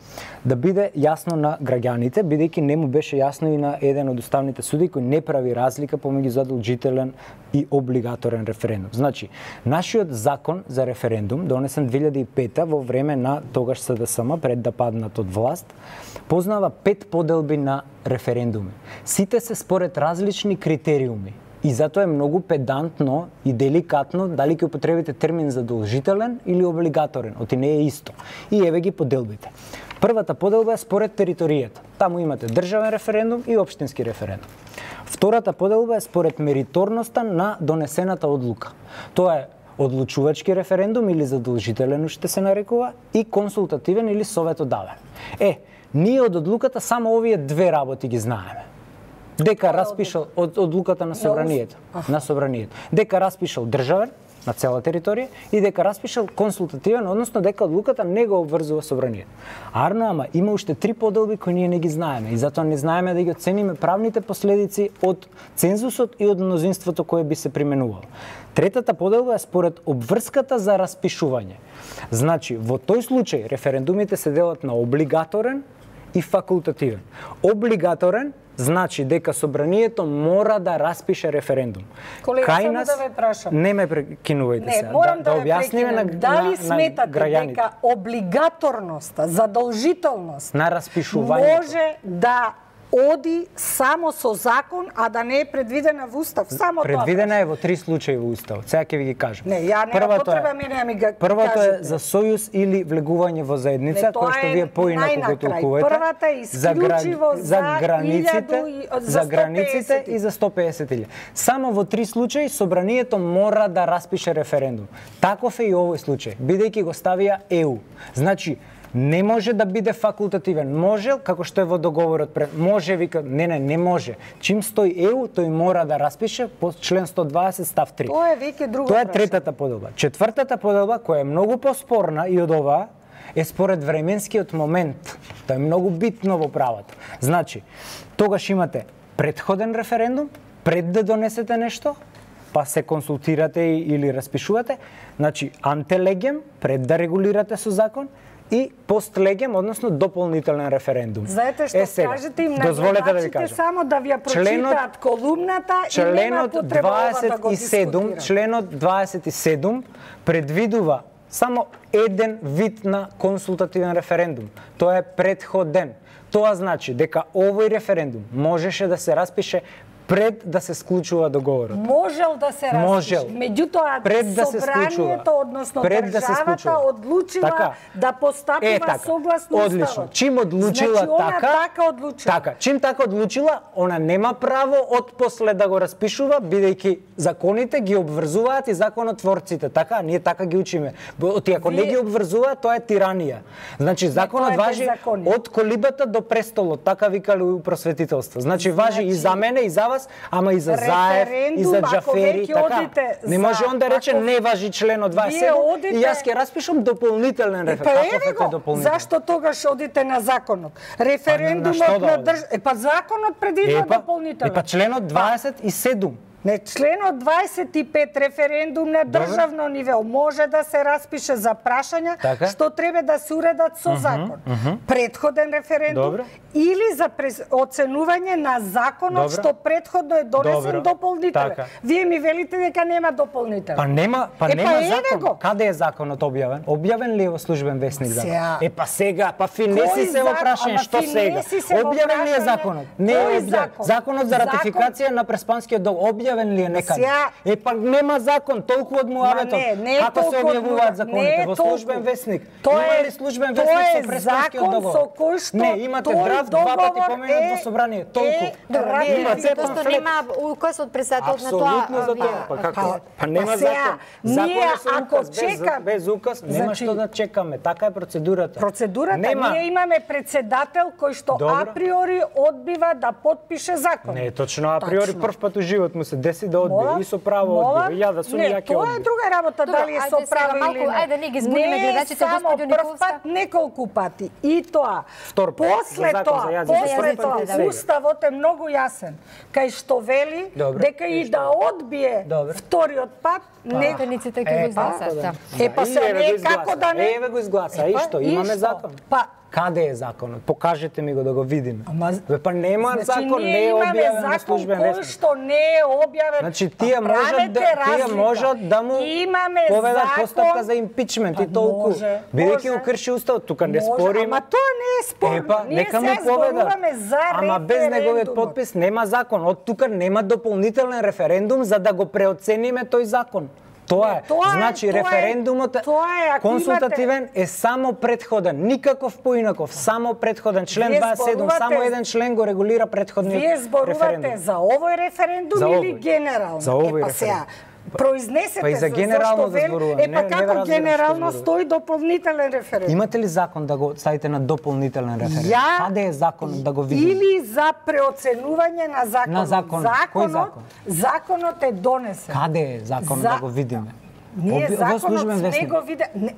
да биде јасно на граѓаните, бидејќи не му беше јасно и на еден од уставните суди кој не прави разлика помеѓу задолжителен и облигаторен референдум. Значи, нашиот закон за референдум, донесен две илјади и пета во време на тогаш СДСМ, пред да паднат од власт, познава пет поделби на референдуми. Сите се според различни критериуми. И затоа е многу педантно и деликатно дали ќе употребите термин задолжителен или облигаторен, оти не е исто. И еве ги поделбите. Првата поделба е според територијата. Таму имате државен референдум и општински референдум. Втората поделба е според мериторноста на донесената одлука. Тоа е одлучувачки референдум или задолжителен уште се нарекува и консултативен или советодавен. Е, ние од одлуката само овие две работи ги знаеме. Дека распишал од одлуката на собранието, на собранието. Дека распишал државен на цела територија и дека распишал консултативен, односно дека одлуката не го обврзува собранието. Арно, ама има уште три поделби кои ние не ги знаеме и затоа не знаеме да ги оцениме правните последици од цензусот и од мнозинството кое би се применувало. Третата поделба е според обврската за распишување. Значи, во тој случај референдумите се делат на облигаторен и факултативен. Облигаторен значи дека собранието мора да распише референдум. Колега, Кај само нас да ве прашам. не ме прекинувајте Не, сега. морам да, да ве објасниме на, прекинем. Дали на, сметате на граѓаните дека облигаторноста, задолжителност на распишувањето може да оди само со закон, а да не е предвидена во устав? Само предвидена тоа. е во три случаи во уставот. Сега ќе ви ги кажам. Не, ја нема Првото потреба е- мене да ми ga Првото кажете. е за сојуз или влегување во заедница, Не, тоа кое што е вие поинаку го најнакрај. толкувате. Првата е исклучиво за за границите, илјаду и- за за сто границите песет. и за сто песет илјади. Само во три случаи собранието мора да распише референдум. Таков е и овој случај, бидејќи го ставија Е У. Значи, не може да биде факултативен. Може, како што е во договорот, пред- може, вика, не, не, не може. Чим стои Е У, тој мора да распише по член сто дваесет став три. Тоа е веќе друго Тоа е прашање. третата поделба. Четвртата поделба, која е многу поспорна и од оваа, е според временскиот момент. Тоа е многу битно во правото. Значи, тогаш имате претходен референдум, пред да донесете нешто, па се консултирате или распишувате, значи антелегем, пред да регулирате со закон, и постлегем, односно дополнителен референдум. Знаете што е, сега, кажете им на дозволете да ви гледачите кажам. само да ви ја прочитаат колумната и нема потреба ова да го дискутират. Членот дваесет и седум предвидува само еден вид на консултативен референдум. Тоа е претходен. Тоа значи дека овој референдум можеше да се распише пред да се склучува договорот. Можел да се распише. Можел. Меѓутоа, пред да се собранието, односно пред да се државата, одлучила така. да постапува е, така. согласно Одлично. уставот. Чим одлучила значи, она така, така одлучила. Така, чим така одлучила, она нема право од после да го распишува, бидејќи законите ги обврзуваат и законотворците. Така, ние така ги учиме. Оти ако Вие... не ги обврзуваат, тоа е тиранија. Значи законот важи од колибата до престолот, така викале у просветителство. Значи, значи важи и за мене и за вас, ама и за Заев, и за Џафери, така. Не може он да рече ако... не важи членот дваесет и седум одите... и јас ќе распишам дополнителен референдум. Па еве го, зашто тогаш одите на законот? Референдумот на, на држ... Е па законот предвидува дополнителен. Е па членот дваесет и седум. Не, членот дваесет и пет референдум на државно ниво може да се распише за прашања така? Што треба да се уредат со закон. Uh -huh, uh -huh. Предходен референдум Добре. Или за през... оценување на законот Добре. Што предходно е донесен Добре. Дополнителен. Така. Вие ми велите дека нема дополнителен. Па нема, па е, нема па закон. Го. Каде е законот објавен? Објавен ли е во службен весник закон? Сега... Е па сега, па финеси се во прашање, што сега? Објавен ли е законот? Не е објавен. Закон? Законот за ратификација закон... на Преспанскиот договор објавен ли е некаде? Е па нема закон, толку од муаветот. Како се објавуваат законите во службен весник? Има ли службен весник со Преспанскиот договор? Не, имате драфт два пати поменат во собрание, толку. Има цепан флет. Нема указ од председателот на тоа. Апсолутно за тоа. Па како? Па нема закон. Законот со указ, без, без указ нема што да чекаме. Така е процедурата. Процедурата, ние имаме председател кој што априори одбива да потпише закон. Не е точно априори, прв пат у живот му се деси да одбие и со право одбива. Ја да сум ја ќе одбие. Тоа е друга работа, дали е со право или не. Ајде не ги збуниме гледачите, господи Николска. Неколку пати. И тоа. После тоа, после тоа, уставот е многу јасен, кај што вели дека и да одбие вториот пат, Нејаниците ќе го изгласат. Е па се не како да не. Еве го изгласа, и што имаме закон. Па каде е законот? Покажете ми го да го видиме. Ве па нема значи, закон, не е објавен на службен весник. Кој што не е објавен. Значи тие можат да тие можат да му поведат постапка за импичмент и толку. Бидејќи го крши уставот, тука не спориме. Ама тоа не е спорно. Епа, нека му поведат. Ама без неговиот подпис нема закон. Од тука нема дополнителен референдум за да го преоцениме тој закон. Тоа е. Тоа значи тоа референдумот е, е консултативен имате... е само предходен, никаков поинаков, само предходен. Член дваесет и седум, само еден член го регулира предходниот референдум. Вие зборувате за овој референдум за овој. Или генерално? За овој референдум. Произнесете па и за генерално да зборуваме. Е па како генерално стои дополнителен референдум? Имате ли закон да го ставите на дополнителен референдум? Ја... Каде е закон да го видим? Или за преоценување на законот. На закон. Законот, Кој закон? Законот е донесен. Каде е закон за... да го видиме? Ние Оби... законот не го виде... Не,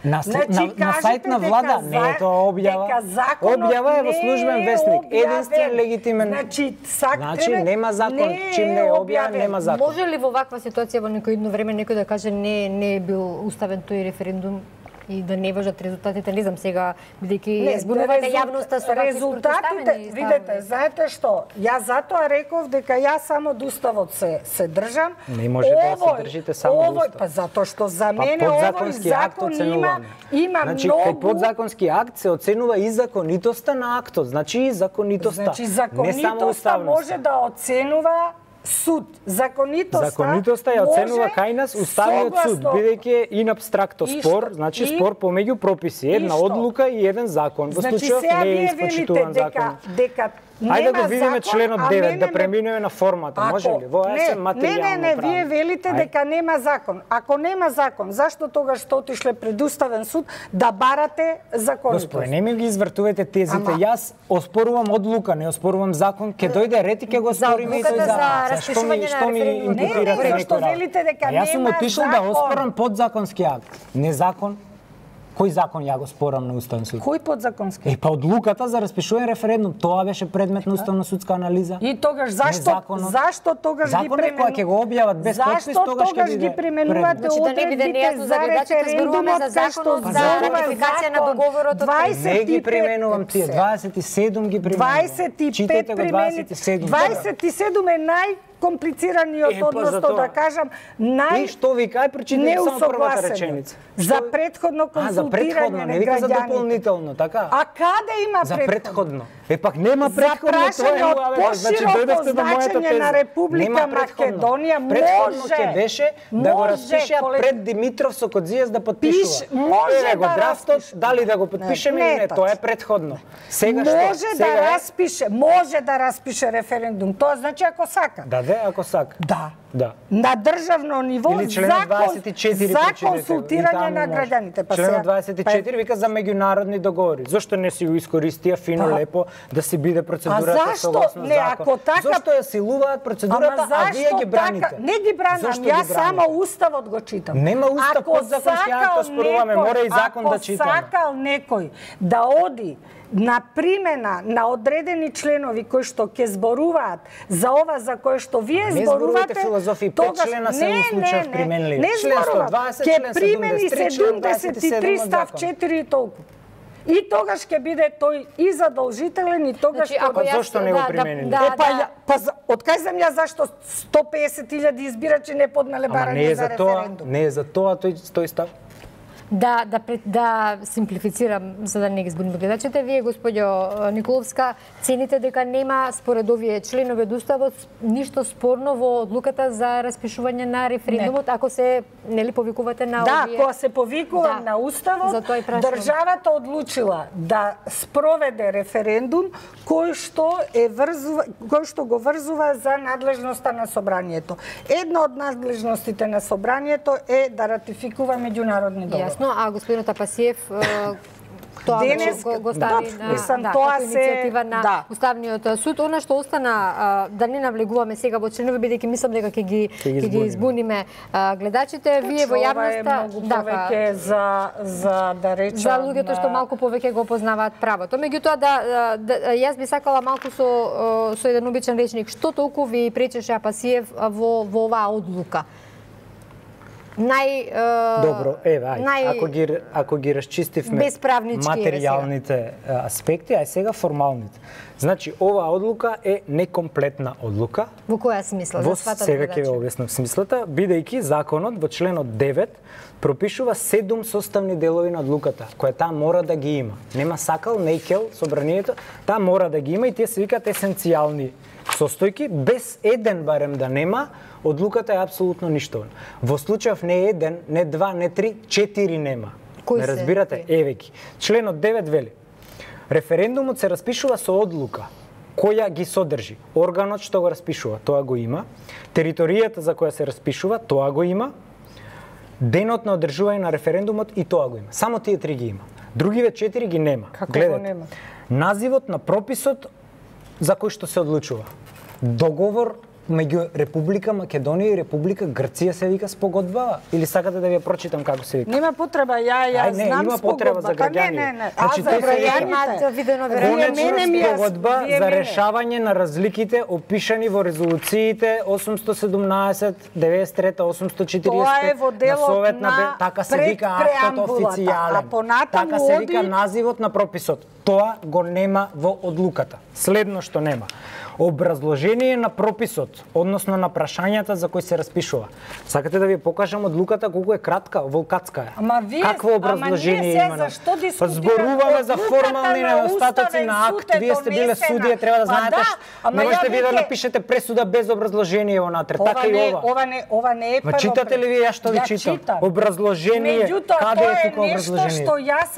на, значи, на, на сайт на влада не е тоа објава. Објава е во службен вестник. Единствен легитимен. Значи, сак значи тебе... нема закон. Не Чим не е објавен, нема закон. Може ли во ваква ситуација во некој едно време некој да каже не не е бил уставен тој референдум и да не важат резултатите, не знам сега, бидејќи збунувате јавноста со резултатите, видете, знаете што, ја затоа реков дека ја само од уставот се се држам. Не може да се држите само од уставот. Па затоа што за мене па, овој закон има има значи, многу. Значи, кај подзаконски акт се оценува и законитоста на актот, значи и законитоста. Значи, законитоста може да оценува суд. Законитоста Законитоста ја оценува кај нас уставниот суд, бидејќи е ин абстракто спор, значи и, спор помеѓу прописи, една одлука и еден закон. Во значи, случајот не е испочитуван закон. Дека Ајде да го видиме членот девет, да преминеме на формата, може ли? Во ЕСМ материјално Не, не, не, вие велите Ај. дека нема закон. Ако нема закон, зашто тогаш што отишле пред уставен суд да барате законитост? Господи, не ми ги извртувате тезите. Ама... Јас оспорувам одлука, не оспорувам закон, ќе дојде ред и ќе го оспориме и тој закон. Што ми што ми импутирате некој? Што велите дека нема закон? Јас сум отишол да оспорам подзаконски акт, не закон. Кој закон ја го спорам на Уставен суд? Кој подзаконски? Е, па одлуката за распишување референдум, тоа беше предмет на уставно-судска анализа. И тогаш зашто зашто тогаш ги применуваат? Законот кој ќе го објават без подпис, тогаш ќе биде. Зашто тогаш ги применувате одредбите за референдумот кај што за ратификација на договорот? Не ги применувам тие, дваесет и седум ги применувам. дваесет и пет примените. дваесет и седум е нај комплицираниот, е, односно да кажам, нај... И што ви кај прочитате само првата реченица? За предходно консултирање на граѓаните. Не вика за граѓаните. Дополнително, така? А каде има за предходно? предходно? Е, пак нема предходно, тоа е муавето. Значи, дојдовте до мојата теза. На Република Македонија предходно може... ќе беше да го распишеа колег... пред Димитров со Кодзијас да подпишува. Пиш, може Еве го да драфтот, распише. дали да го подпишеме или не, тоа е предходно. Сега што? Може да Сега распише, може да распише референдум. Тоа значи ако сака. Да, да, ако сака. Да. Да. На државно ниво или член дваесет и четири за консултирање на граѓаните. Па член дваесет и четири вика за меѓународни договори. Зошто не си го искористија фино па, лепо да си биде процедурата согласно не, закон? Ако така... Зошто ја силуваат процедурата, а вие ги браните? Така... Не ги бранам, јас само уставот го читам. Нема устав, подзакон ќе ја тоа споруваме, мора и закон да читаме. Ако сакал некој да оди на примена на одредени членови кои што ќе зборуваат за ова за кое што вие не зборувате, филозофија, пет члена се во случај применливи. Не зборувам, ќе примени седумдесет и три став четири и толку. И тогаш ќе биде тој и задолжителен и тогаш значи, ако јас... Зошто не го применили? Да, да, е, па, да. па од кај земја зашто сто песет илјади избирачи не поднале барање за референдум? Не е за тоа тој тој став. Да, да, да симплифицирам, за да не ги збуниме гледачите, вие, господјо Николовска, цените дека нема, според овие членови од Уставот, ништо спорно во одлуката за распишување на референдумот, не. Ако се, нели, повикувате на да, овие... Да, кога се повикувам да. На Уставот, државата одлучила да спроведе референдум кој што е врзува, кој што го врзува за надлежноста на собранието. Една од надлежностите на собранието е да ратификува меѓународни договори. А господин Тапасиев тоа денес го, го стави да, на мислам, да, тоа како иницијатива на да. Уставниот суд. Она што остана, а, да не навлегуваме сега во членови, бидејќи мислам дека ќе ги ќе ги, ги избуниме а, гледачите, вие во јавноста ова е многу повеќе за за да речам за луѓето што малку повеќе го познаваат правото. Меѓутоа да, да јас би сакала малку со со еден обичен речник, што толку ви пречеше Апасиев во во оваа одлука? Нај е, Добро, еве, ај, нај... ако ги ако ги расчистивме материјалните аспекти, ај сега формалните. Значи, оваа одлука е некомплетна одлука. Во која смисла? Во сега ќе ве објаснам смислата, бидејќи законот во членот девет пропишува седум составни делови на одлуката, која таа мора да ги има. Нема сакал, нејкел, собранието, таа мора да ги има и тие се викаат есенцијални состојки, без еден барем да нема, одлуката е апсолутно ништовна. Во случајов не еден, не два, не три, четири нема. Кој не разбирате? Еве ги. Членот девет вели: референдумот се распишува со одлука која ги содржи органот што го распишува, тоа го има, територијата за која се распишува, тоа го има, денот на одржување на референдумот и тоа го има. Само тие три ги има. Другиве четири ги нема. Како Гледате, го нема? Називот на прописот за кој што се одлучува. Договор меѓу Република Македонија и Република Грција се вика спогодба, или сакате да ви ја прочитам како се вика? Нема потреба, ја ја Ај, не, знам има потреба за граѓани. Не, не, не. Значи, а за граѓаните видено конечна спогодба за решавање на разликите опишани во резолуциите осумсто седумнаесет, деветдесет и трета, осумсто четириесет пет на Совет на така се вика актот официјален. Така се вика називот на прописот. Тоа го нема во одлуката. Следно што нема: образложение на прописот, односно на прашањата за кои се распишува. Сакате да ви покажам одлуката колку е кратка, волкатска е. Ама вие, какво образложение ама има? Зашто дискутираме? Зборуваме за формални недостатоци на акт. Вие сте биле судија, треба да знаете што. Не можете вие да напишете пресуда без образложение внатре. Така и ова. Ова не, ова не е прво. Ма читате ли вие ја што ви читам? Образложение. Каде е тука образложение?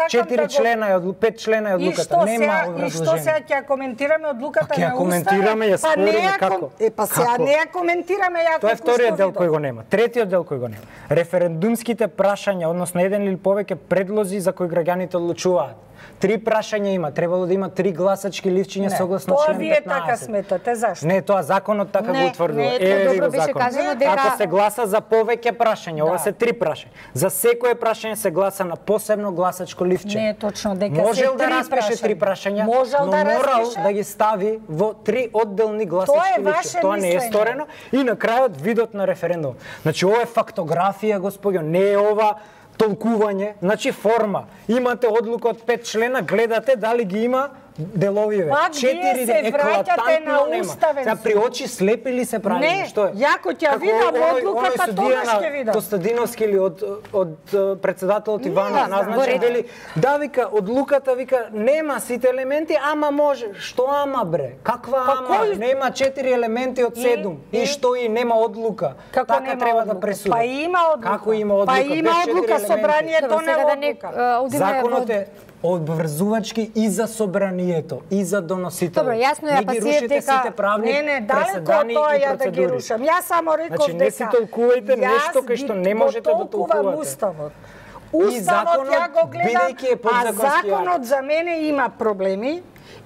Четири члена е, пет члена е одлуката. одлуката, нема И што образложение. сега ќе ја коментираме одлуката Па ќе ја на коментираме, ја Па не спориме ја како? ком- Е, па сега Како? не ја коментираме ја Тоа е како вториот што дел видов. кој го нема. Третиот дел кој го нема. Референдумските прашања, односно еден или повеќе предлози за кои граѓаните одлучуваат. Три прашања има, требало да има три гласачки ливчиња Не, согласно тоа член вие петнаесет. така сметате, зашто? Не, тоа законот така Не, го утврдува. не, Еве ви добро го беше законот. кажано дека- Ако се гласа за повеќе прашања, ова Да. се три прашања. За секое прашање се гласа на посебно гласачко ливче. Не е точно дека се Можел да три распише прашања. три прашања, Можел но да морал распише. да ги стави во три одделни Тоа гласачки е ливче. ваше Тоа не е мислење. сторено и на крајот видот на референдум. Значи ова е фактографија, господјо, не е ова толкување, значи форма. Имате одлука од пет члена, гледате дали ги има деловиве. Пак вие се враќате на уставен Сега при суд. очи слепи ли се прави? Не, Што е? јако ќе Како видам оној- одлуката, оној судија тогаш на ќе видам. Костадиновски или од од е, председателот Иванов да, назначен во ред. вели да вика одлуката вика нема сите елементи, ама може. Што ама бре? Каква Па ама? кој- Нема четири елементи од седум. И- И, и- што и нема одлука. Како така нема треба одлука? да пресуди. Па има одлука. Како има одлука? Па има Без четири одлука, елементи. собранието Добро, не сега да не одлука. а, одиме Законот во- е обврзувачки и за собранието, и за доносителот. Добро, јасно е, Не па ги си е рушите дека- сите правни Не, не, далеко од преседани тоа и ја да ги процедури. рушам. Јас само реков Значи, не дека си толкувајте нешто јас кај што ги- не можете да го толкувам толкувате. Уставот. И Уставот законот, ја го гледам, бидејќи е а подзаконски законот за мене има проблеми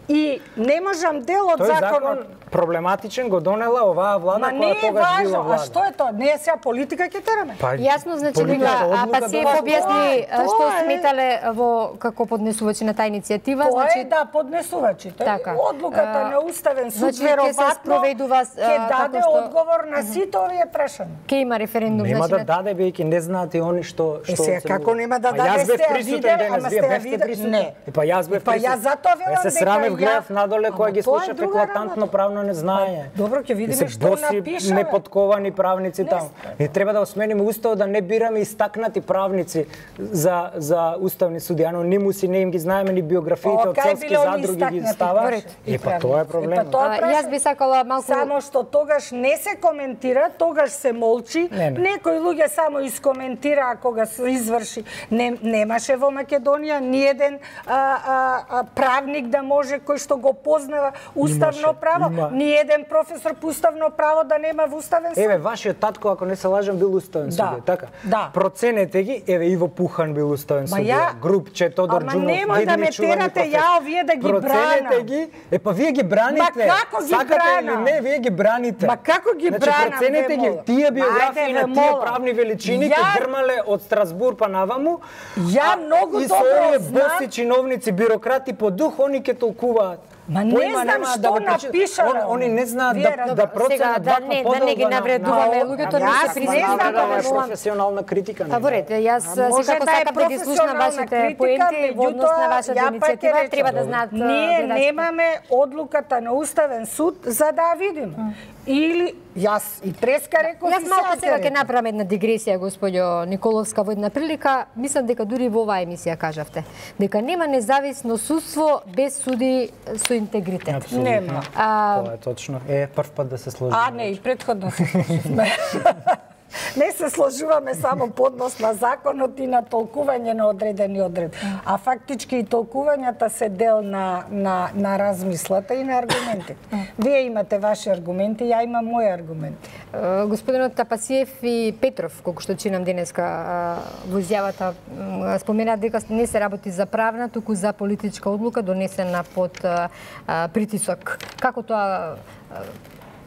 и не можам дел од Тој закон законот. проблематичен го донела оваа влада Ма не која е тогаш била важно, а влада. што е тоа? Не е сега политика ќе тераме. Па, Јасно, значи политичка дека а, одлука Пасиев донесла. објасни Тоа е- што тоа е- сметале во како поднесувачи на таа иницијатива, Тоа значи е да поднесувачите. Така. Одлуката А, на Уставен суд значи, ќе се веројатно спроведува, ќе а, даде како што- одговор на сите овие прашања. ќе има референдум, Нема значи да на- даде бидејќи не знаат и они што Е, што сега, оценуваат. како нема да А даде, јас бев сте ја присутен видели, денес, ама вие сте ја бевте видели? присутен. Не. И па јас бев Па присутен. јас затоа велам Јас се дека срамев, ја- гледав надоле Ама која ги тоа е слушав друга еклатантно работа. правно незнание. Добро, ќе И видиме се што боси, напишаме. неподковани правници Не таму. сте. Не треба да осмениме уставот, да не бираме истакнати правници за за уставни суди. Анонимуси не им ги знаеме ни биографиите О, од кај селски биле они задруги ги истакнати става. правници и Е па правници? тоа е Е, проблем. па тоа А, прашање. јас би сакала малку Само што тогаш не се коментира, тогаш се молчи. Не, не. Некои луѓе само искоментираа кога се изврши. Не, немаше во Македонија ниеден а, а, а, правник да може кој што го познава уставно Имаше, право. има. Ниеден професор по уставно право да нема во уставен суд. Еве, вашиот татко, ако не се лажам, бил уставен Да, судија, така? да. Проценете ги, еве, Иво Пухан бил уставен Ма судија, ја- Групче, Тодор Ама Джунов, немој да видни ме чувани терате професори. ја овие да ги Проценете бранам. ги, е па вие ги браните. Ма како ги Сакате бранам? или не, вие ги браните. Ма како ги значи, бранам, проценете ве ги, молам? тие биографии Ајде, на ве тие молам. правни величини Ја- ќе грмале од Страсбур па наваму. Ја а- многу и добро со овие знам- боси чиновници, бюрократи по дух, они ќе толкуваат. Ма не Поима знам немаат што да го прочитат. напишале Он- Они не знаат Вие да, разбирате. да Сега, проценат да ваква не- да подолга не ги на- навредуваме на- луѓето, на- не се Јас признаваме, сметам дека да е не професионална критика. Па во ред, јас А може секако да е сакам да ги слушнам професионална вашите критика, поенти во однос на меѓутоа, вашата ја па ќе иницијатива, речам, треба да знаат Ние гледачите. немаме одлуката на Уставен суд за да ја видиме. Или јас и преска реков Јас и малку сега сега ќе ќе направам една дигресија, господјо Николовска, во една прилика. Мислам дека дури во оваа емисија кажавте дека нема независно судство без суди со интегритет. Апсолутно. Нема. А, Тоа е точно. Е, прв пат да се сложиме. А, не, и предходно се сложивме. Не се сложуваме само по однос на законот и на толкување на одредени одредби. А фактички и толкувањата се дел на, на, на размислата и на аргументите. Вие имате ваши аргументи, ја имам мои аргументи. е, господинот Тапасиев и Петров, колку што чинам денеска а, во изјавата, м, споменаат дека не се работи за правна, туку за политичка одлука донесена под а, а, притисок. Како тоа а,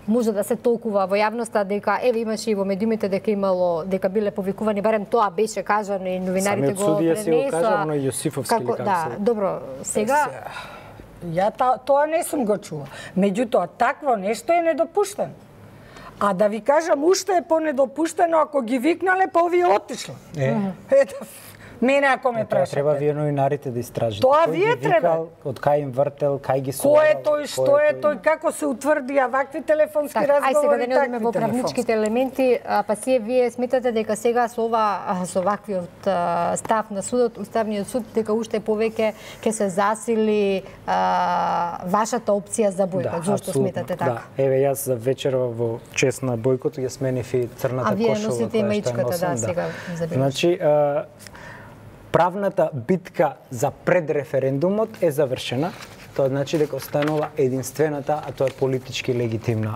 може да се толкува во јавноста дека еве имаше и во медиумите дека имало дека биле повикувани, барем тоа беше кажано и новинарите Самиот го судија си го пренесоа. кажа, но и Јосифовски или како да, се- добро, сега Ја та, тоа не сум го чула. Меѓутоа, такво нешто е недопуштено. А да ви кажам, уште е понедопуштено ако ги викнале, па овие отишле. Е. Ето, мене ако ме Тоа треба прашате. вие новинарите да истражите. Тоа Кој вие ги треба. викал, од кај им вртел, кај ги Кој е собрал, тој, што е тој, како се утврдија вакви телефонски така, ај сега разговори, да не одиме во такви правничките елементи, а, па сие вие сметате дека сега со ова а, со ваквиот а, став на судот, Уставниот суд, дека уште повеќе ќе се засили а, вашата опција за бојкот. Зошто апсолутно, сметате така? Да. Еве јас за вечерва во чест на бојкот ја сменив и црната А вие кошула носите и која што ја маичката, носам, да, сега забележав. Значи, а, правната битка за предреферендумот е завршена. Тоа значи дека останала единствената, а тоа е политички легитимна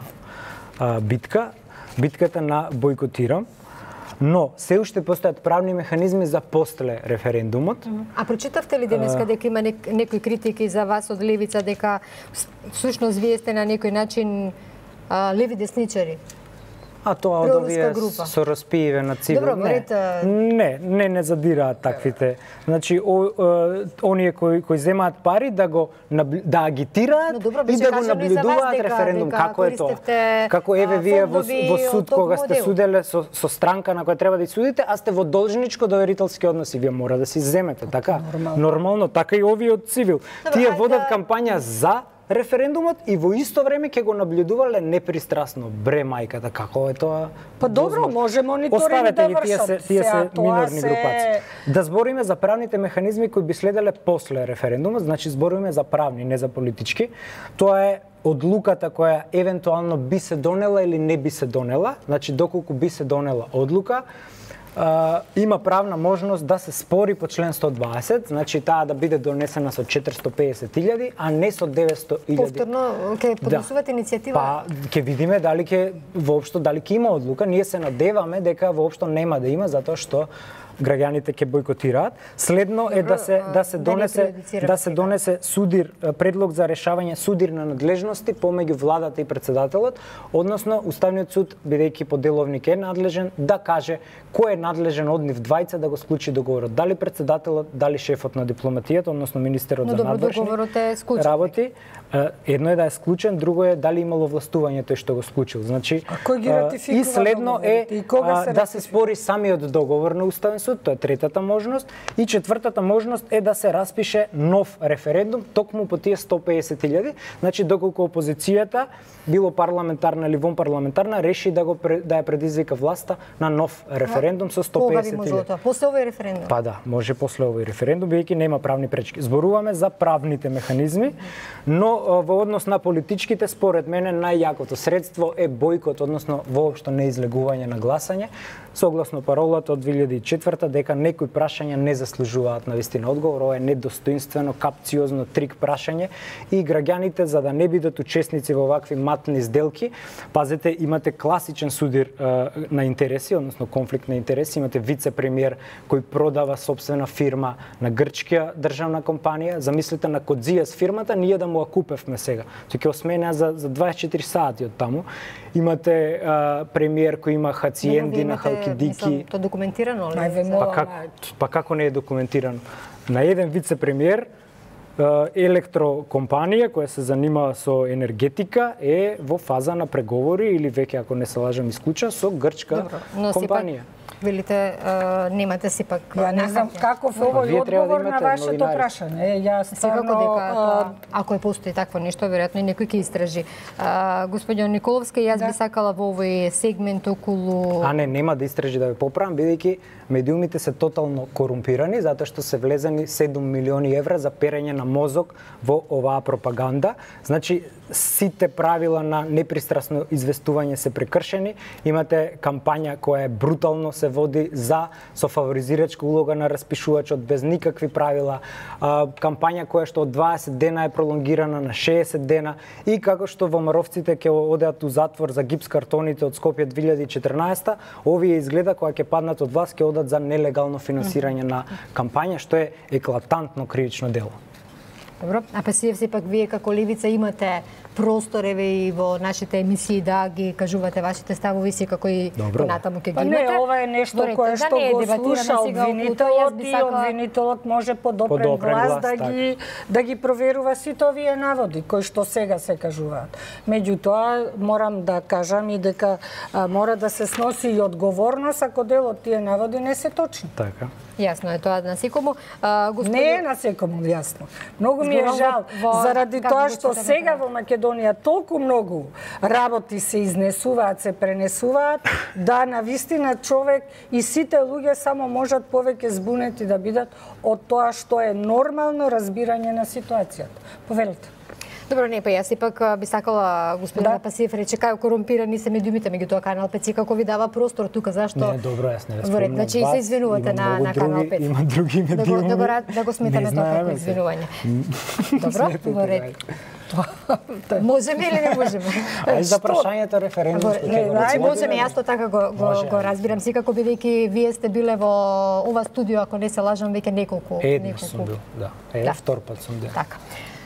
а, битка, битката на бойкотирам. Но се уште постојат правни механизми за после референдумот. А прочитавте ли денеска дека има нек, некои критики за вас од левица дека всушност вие сте на некој начин а, леви десничари? А тоа од овие со распиеве на цивил. Добро, не, говорите... не, не, не задираат таквите. Значи, о, о, оние кои, кои земаат пари да го да агитираат добро, и да го наблюдуваат дека, референдум. Дека Како е тоа? Како еве вие во, во суд, кога сте суделе со, со странка на која треба да судите, а сте во должничко доверителски односи, вие мора да си земете, така? Нормално, Нормално така и овие од цивил. Добро, Тие водат да... кампања за референдумот и во исто време ќе го наблюдувале непристрасно. Бре мајката, како е тоа? Па добро, може мониторинг да вршат. Тие се, тие се минорни се... групаци. Да збориме за правните механизми кои би следеле после референдумот, значи збориме за правни, не за политички. Тоа е одлуката која евентуално би се донела или не би се донела, значи доколку би се донела одлука, Uh, има правна можност да се спори по член сто дваесет, значи таа да биде донесена со четиристо песет илјади, а не со деветсто илјади. Повторно ќе поднесувате да. иницијатива? Па ќе видиме дали ќе воопшто дали ќе има одлука. Ние се надеваме дека воопшто нема да има затоа што граѓаните ќе бойкотираат. Следно Добро, е да се да се донесе да, да се донесе судир предлог за решавање судирна надлежности помеѓу владата и претседателот, односно Уставниот суд бидејќи поделовник е надлежен да каже кој е надлежен од нив двајца да го склучи договорот, дали претседателот, дали шефот на дипломатијата, односно министерот Но, за надворешни е работи. Едно е да е склучен, друго е дали имало властување тој што го склучил. Значи а кој ги ратификува? И следно е и а, да се спори самиот договор на Уставен суд, тоа е третата можност, и четвртата можност е да се распише нов референдум токму по тие сто песет илјади, значи доколку опозицијата било парламентарна или вонпарламентарна реши да го да ја предизвика власта на нов референдум со сто песет илјади. Кога би можело тоа? После овој референдум? Па да, може после овој референдум, бидејќи нема правни пречки. Зборуваме за правните механизми, но во однос на политичките, според мене најјакото средство е бојкот, односно воопшто неизлегување на гласање, согласно паролата од две илјади и четврта дека некои прашања не заслужуваат на вистина одговор. Ова е недостоинствено, капциозно трик прашање и граѓаните за да не бидат учесници во вакви матни сделки, пазете, имате класичен судир е, на интереси, односно конфликт на интереси, имате вице-премиер кој продава собствена фирма на грчка државна компанија. Замислете на Кодзијас фирмата, ние да му ја купевме сега. Тој ќе осменеа за за дваесет и четири сати од таму. Имате е, премиер кој има хациенди на Халкидики. Тоа документирано ли? Па, как, па како не е документирано? На еден вице-премиер електрокомпанија која се занимава со енергетика е во фаза на преговори или веќе ако не се лажам исклуча со грчка Добро, но компанија. Велите, uh, немате си пак... Ја не знам каков е овој одговор на вашето прашање. Јас стварно... дека, ако е постои такво нешто, веројатно и некој ќе истражи. Uh, Господион Николовска, јас да. би сакала во овој сегмент околу... А не, нема да истражи да ве поправам, бидејќи медиумите се тотално корумпирани, затоа што се влезени седум милиони евра за перење на мозок во оваа пропаганда. Значи, сите правила на непристрасно известување се прекршени. Имате кампања која е брутално се води за со фаворизирачка улога на распишувачот без никакви правила. А, кампања која што од дваесет дена е пролонгирана на шеесет дена и како што ВМРО-вците ќе одеат у затвор за гипс картоните од Скопје две илјади и четрнаесета, овие изгледа кога ќе паднат од власт ќе одат за нелегално финансирање на кампања, што е еклатантно кривично дело. Добро, а па си сепак вие како левица имате простор еве и во нашите емисии да ги кажувате вашите ставови си како и натаму ќе ги имате. Па не, ова е нешто Добре, кое што да го слуша обвинителот и обвинителот може подопрен глас да ги да ги проверува сите овие наводи кои што сега се кажуваат. Меѓутоа морам да кажам и дека а, мора да се сноси и одговорност ако дел од тие наводи не се точни. Така. Јасно е тоа на секому. Господин... Не е на секому јасно. Многу ми е жал во... заради тоа што сега во Македонија толку многу работи се изнесуваат, се пренесуваат, да на вистина човек и сите луѓе само можат повеќе збунети да бидат од тоа што е нормално разбирање на ситуацијата. Повелете. Добро, не, па јас сепак би сакала господина да. Пасиев рече кај корумпирани се медиумите, меѓутоа Канал пет како ви дава простор тука, зашто? Не, добро, јас не спомнам. Значи се извинувате на на Канал пет. Има други медиуми. Да го да го, да го сметаме тоа како извинување. Добро, во ред. Можеме или не можеме? Ај за прашањето референдумско. Ај можеме, јас тоа така го го, го разбирам, секако бидејќи вие сте биле во ова студио, ако не се лажам, веќе неколку Еднаш сум бил, да. Е, да. Втор пат сум бил. Така.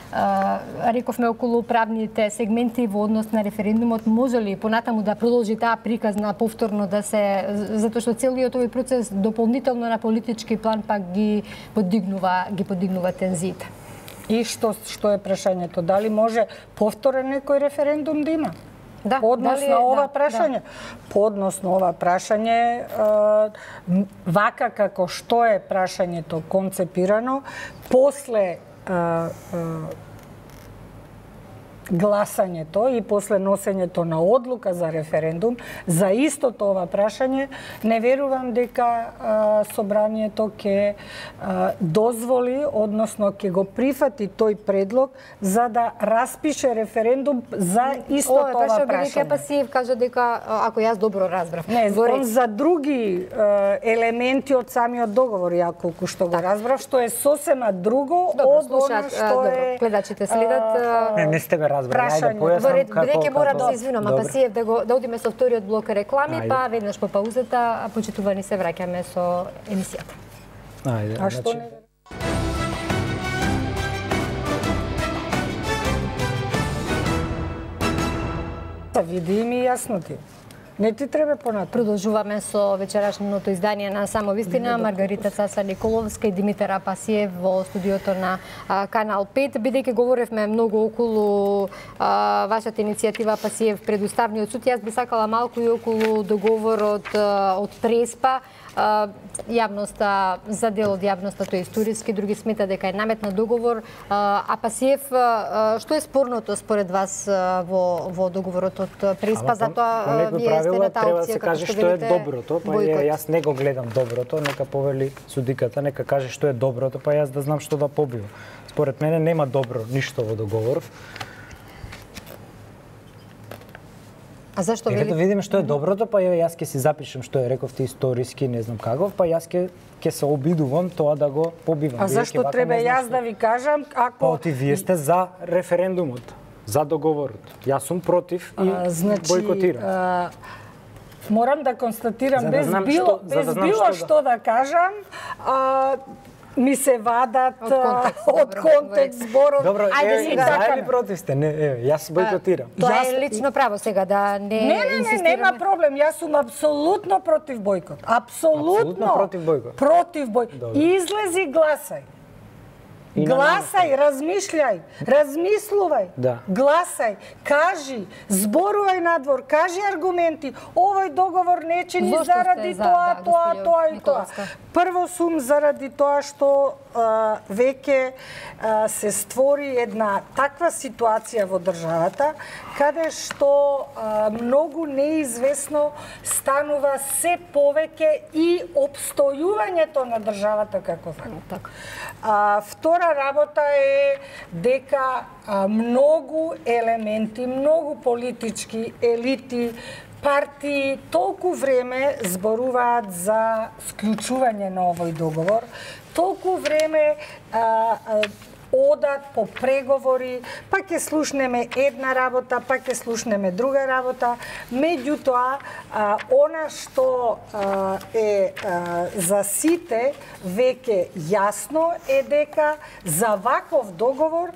Uh, рековме околу правните сегменти во однос на референдумот, може ли понатаму да продолжи таа приказна повторно да се, затоа што целиот овој процес дополнително на политички план пак ги подигнува, ги подигнува тензиите. И што што е прашањето? Дали може повторен некој референдум да има? Да, Поднос дали, на ова да, прашање. Да. Поднос на ова прашање, е, вака како што е прашањето концепирано, после Uh, uh, гласањето и после носењето на одлука за референдум за истото ова прашање, не верувам дека а, собранието ќе а, дозволи, односно ќе го прифати тој предлог за да распише референдум за истото ова, ова прашање. Ова Пасиев кажа дека, ако јас добро разбрав. Не, он за други а, елементи од самиот договор, ја колку што го разбрав, што е сосема друго добро, од она што добро, е... гледачите следат. А, не, не сте ме разбрали. Прашање. Бидејќи мора да се извинувам, а Пасиев да го да одиме со вториот блок реклами, Ајде. Па веднаш по паузата, а почитувани се враќаме со емисијата. Ајде. А што не? Та види ми јасно ти. Не ти треба понатаму. Продолжуваме со вечерашното издание на Само вистина. Маргарита Цаца Николовска и Димитар Апасиев во студиото на а, Канал пет. Бидејќи говоревме многу околу а, вашата иницијатива Апасиев пред Уставниот суд, јас би сакала малку и околу договорот а, од Преспа. А, јавноста, за дел од јавноста тој историски, други смета дека е наметна договор. А, Апасиев, а, што е спорното според вас а, во во договорот од Преспа? Затоа вие сте на таа опција, треба да се каже што е доброто, па е, јас не го гледам доброто, нека повели судиката, нека каже што е доброто, па јас да знам што да побивам. Според мене нема добро ништо во договорот. А зашто вели? Да видиме што е доброто, па јас ќе си запишем што е рековте историски, не знам каков, па јас ќе ќе се обидувам тоа да го побивам. А зашто треба јас да ви кажам ако Па оти вие сте за референдумот, за договорот. Јас сум против и а, значи, бојкотирам. А, морам да констатирам да без било што, без да било што, што да... да кажам, а, ми се вадат од контекст, од контекст зборов. Добро, ајде сега за или против сте? Не, еве, јас бојкотирам. Тоа јас... е лично право сега да не Не, не, не, нема проблем. Јас сум апсолутно против бојкот. Апсолутно, апсолутно против бојкот. Против бојкот. Излези гласај. Гласај, размишљај, размислувај, да. Гласај, кажи, зборувај надвор, кажи аргументи. Овој договор не чини заради за, тоа, да, тоа, тоа и тоа. Прво сум заради тоа што а, веќе а, се створи една таква ситуација во државата, каде што а, многу неизвестно станува се повеќе и обстојувањето на државата како така. А, втора работа е дека а, многу елементи, многу политички елити, партии толку време зборуваат за склучување на овој договор, толку време а, а, одат по преговори, па ќе слушнеме една работа, па ќе слушнеме друга работа. Меѓутоа, а, она што а, е а, за сите веќе јасно е дека за ваков договор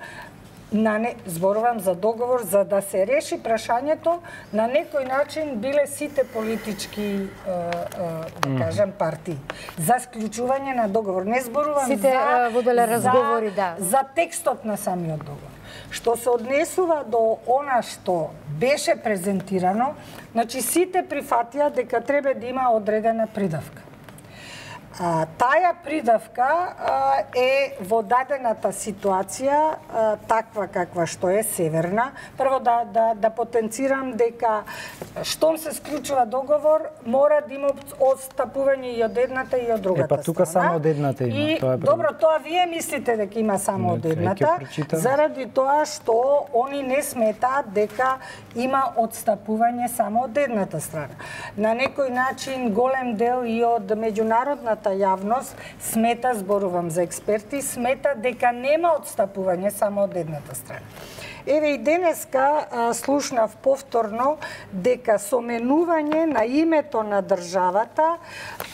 на не, зборувам за договор за да се реши прашањето, на некој начин биле сите политички е, е, да кажам партии за склучување на договор. Не зборувам сите, за воделе разговори, за, да. за текстот на самиот договор. Што се однесува до она што беше презентирано, значи сите прифатија дека треба да има одредена придавка. А, таја придавка а, е во дадената ситуација а, таква каква што е северна. Прво да, да, да потенцирам дека штом се склучува договор, мора да има отстапување и од едната и од другата страна. Е, па тука страна. само од едната има. И, тоа е добро, тоа вие мислите дека има само од едната, заради тоа што они не сметаат дека има отстапување само од едната страна. На некој начин голем дел и од меѓународната јавност смета, зборувам за експерти, смета дека нема отстапување само од едната страна. Еве и денеска а, слушнав повторно дека со менување на името на државата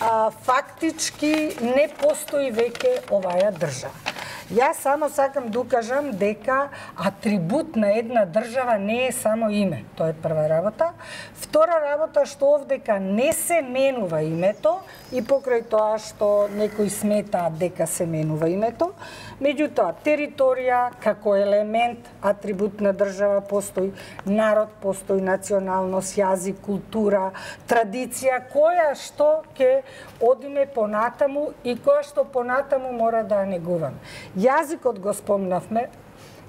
а, фактички не постои веќе оваа држава. Јас само сакам да укажам дека атрибут на една држава не е само име. Тоа е прва работа. Втора работа што овдека не се менува името и покрај тоа што некои сметаат дека се менува името. Меѓутоа, територија како елемент, атрибут на држава постои, народ постои, националност, јазик, култура, традиција, која што ќе одиме понатаму и која што понатаму мора да негуваме. Јазикот го спомнавме.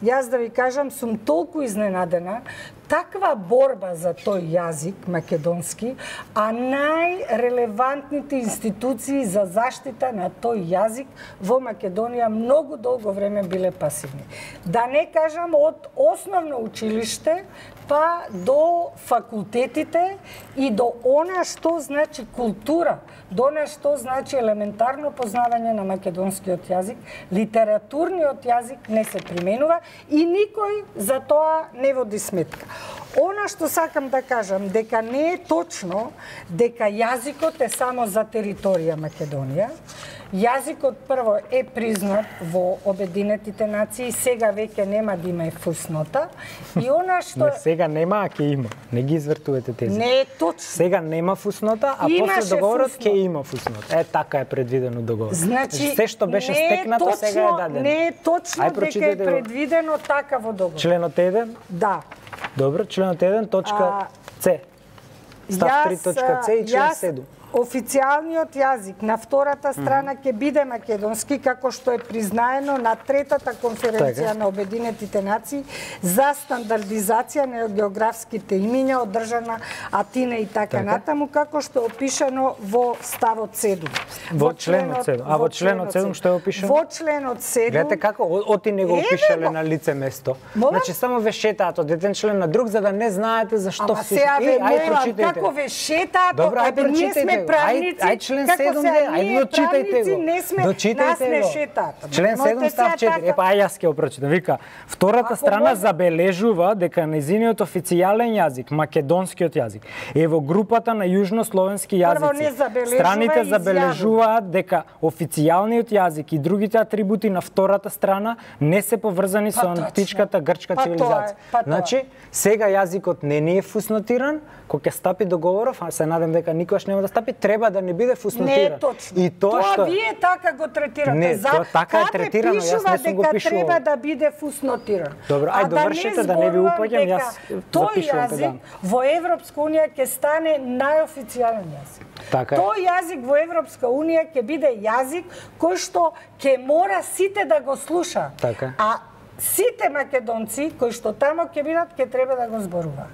Јас да ви кажам, сум толку изненадена, таква борба за тој јазик македонски, а најрелевантните институции за заштита на тој јазик во Македонија многу долго време биле пасивни. Да не кажам од основно училиште па до факултетите и до она што значи култура, до она што значи елементарно познавање на македонскиот јазик, литературниот јазик не се применува и никој за тоа не води сметка. Она што сакам да кажам, дека не е точно дека јазикот е само за територија Македонија. Јазикот прво е признат во Обединетите нации, сега веќе нема да има и фуснота. И она што не, сега нема, а ќе има. Не ги извртувате тези. Не е точно. Сега нема фуснота, а Имаше после договорот ќе фуснота. има фуснота. Е, така е предвидено договорот. Значи, се што беше стекнато точно, сега е дадено. Не е точно Ај, дека е предвидено така во договорот. Членот еден? Да. Добро, членот еден, точка С. Став три точка С и член седум. Официјалниот јазик на втората страна ќе биде македонски, како што е признаено на третата конференција на Обединетите нации за стандардизација на географските имиња одржана Атина и така натаму, како што е опишано во ставот седум. Во членот седум. А во членот седум што е опишано? Во членот седум. Гледате како оти не го опишале на лице место. Значи само ве шетаат од еден член на друг за да не знаете зашто се. Ама сега ве молам, како ве шетаат, добро, ај прочитајте. Правници, ај, ај член седум, ај дочитајте го. Не сме, нас не шетат. Член седум став четири. Епа ај јас ќе го прочитам. Вика, втората страна забележува дека нејзиниот официјален јазик, македонскиот јазик, е во групата на јужнословенски јазици. Страните забележуваат дека официјалниот јазик и другите атрибути на втората страна не се поврзани со античката грчка цивилизација. Значи, сега јазикот не ни е фуснотиран, кога ќе стапи договоров, а се надам дека никогаш нема да стапи, треба да не биде фуснотиран. Не е точно. И тоа, тоа што... вие така го третирате. Не, За... тоа така е третирано, јас не сум го дека пишувал. треба да биде фуснотиран. Добро, ај довршете да не ви упаѓам, јас тој јазик во Европска унија ќе стане најофицијален јазик. Така. Тој јазик во Европска унија ќе биде јазик кој што ќе мора сите да го слуша. Така. А сите македонци кои што тамо ќе бидат ќе треба да го зборуваат.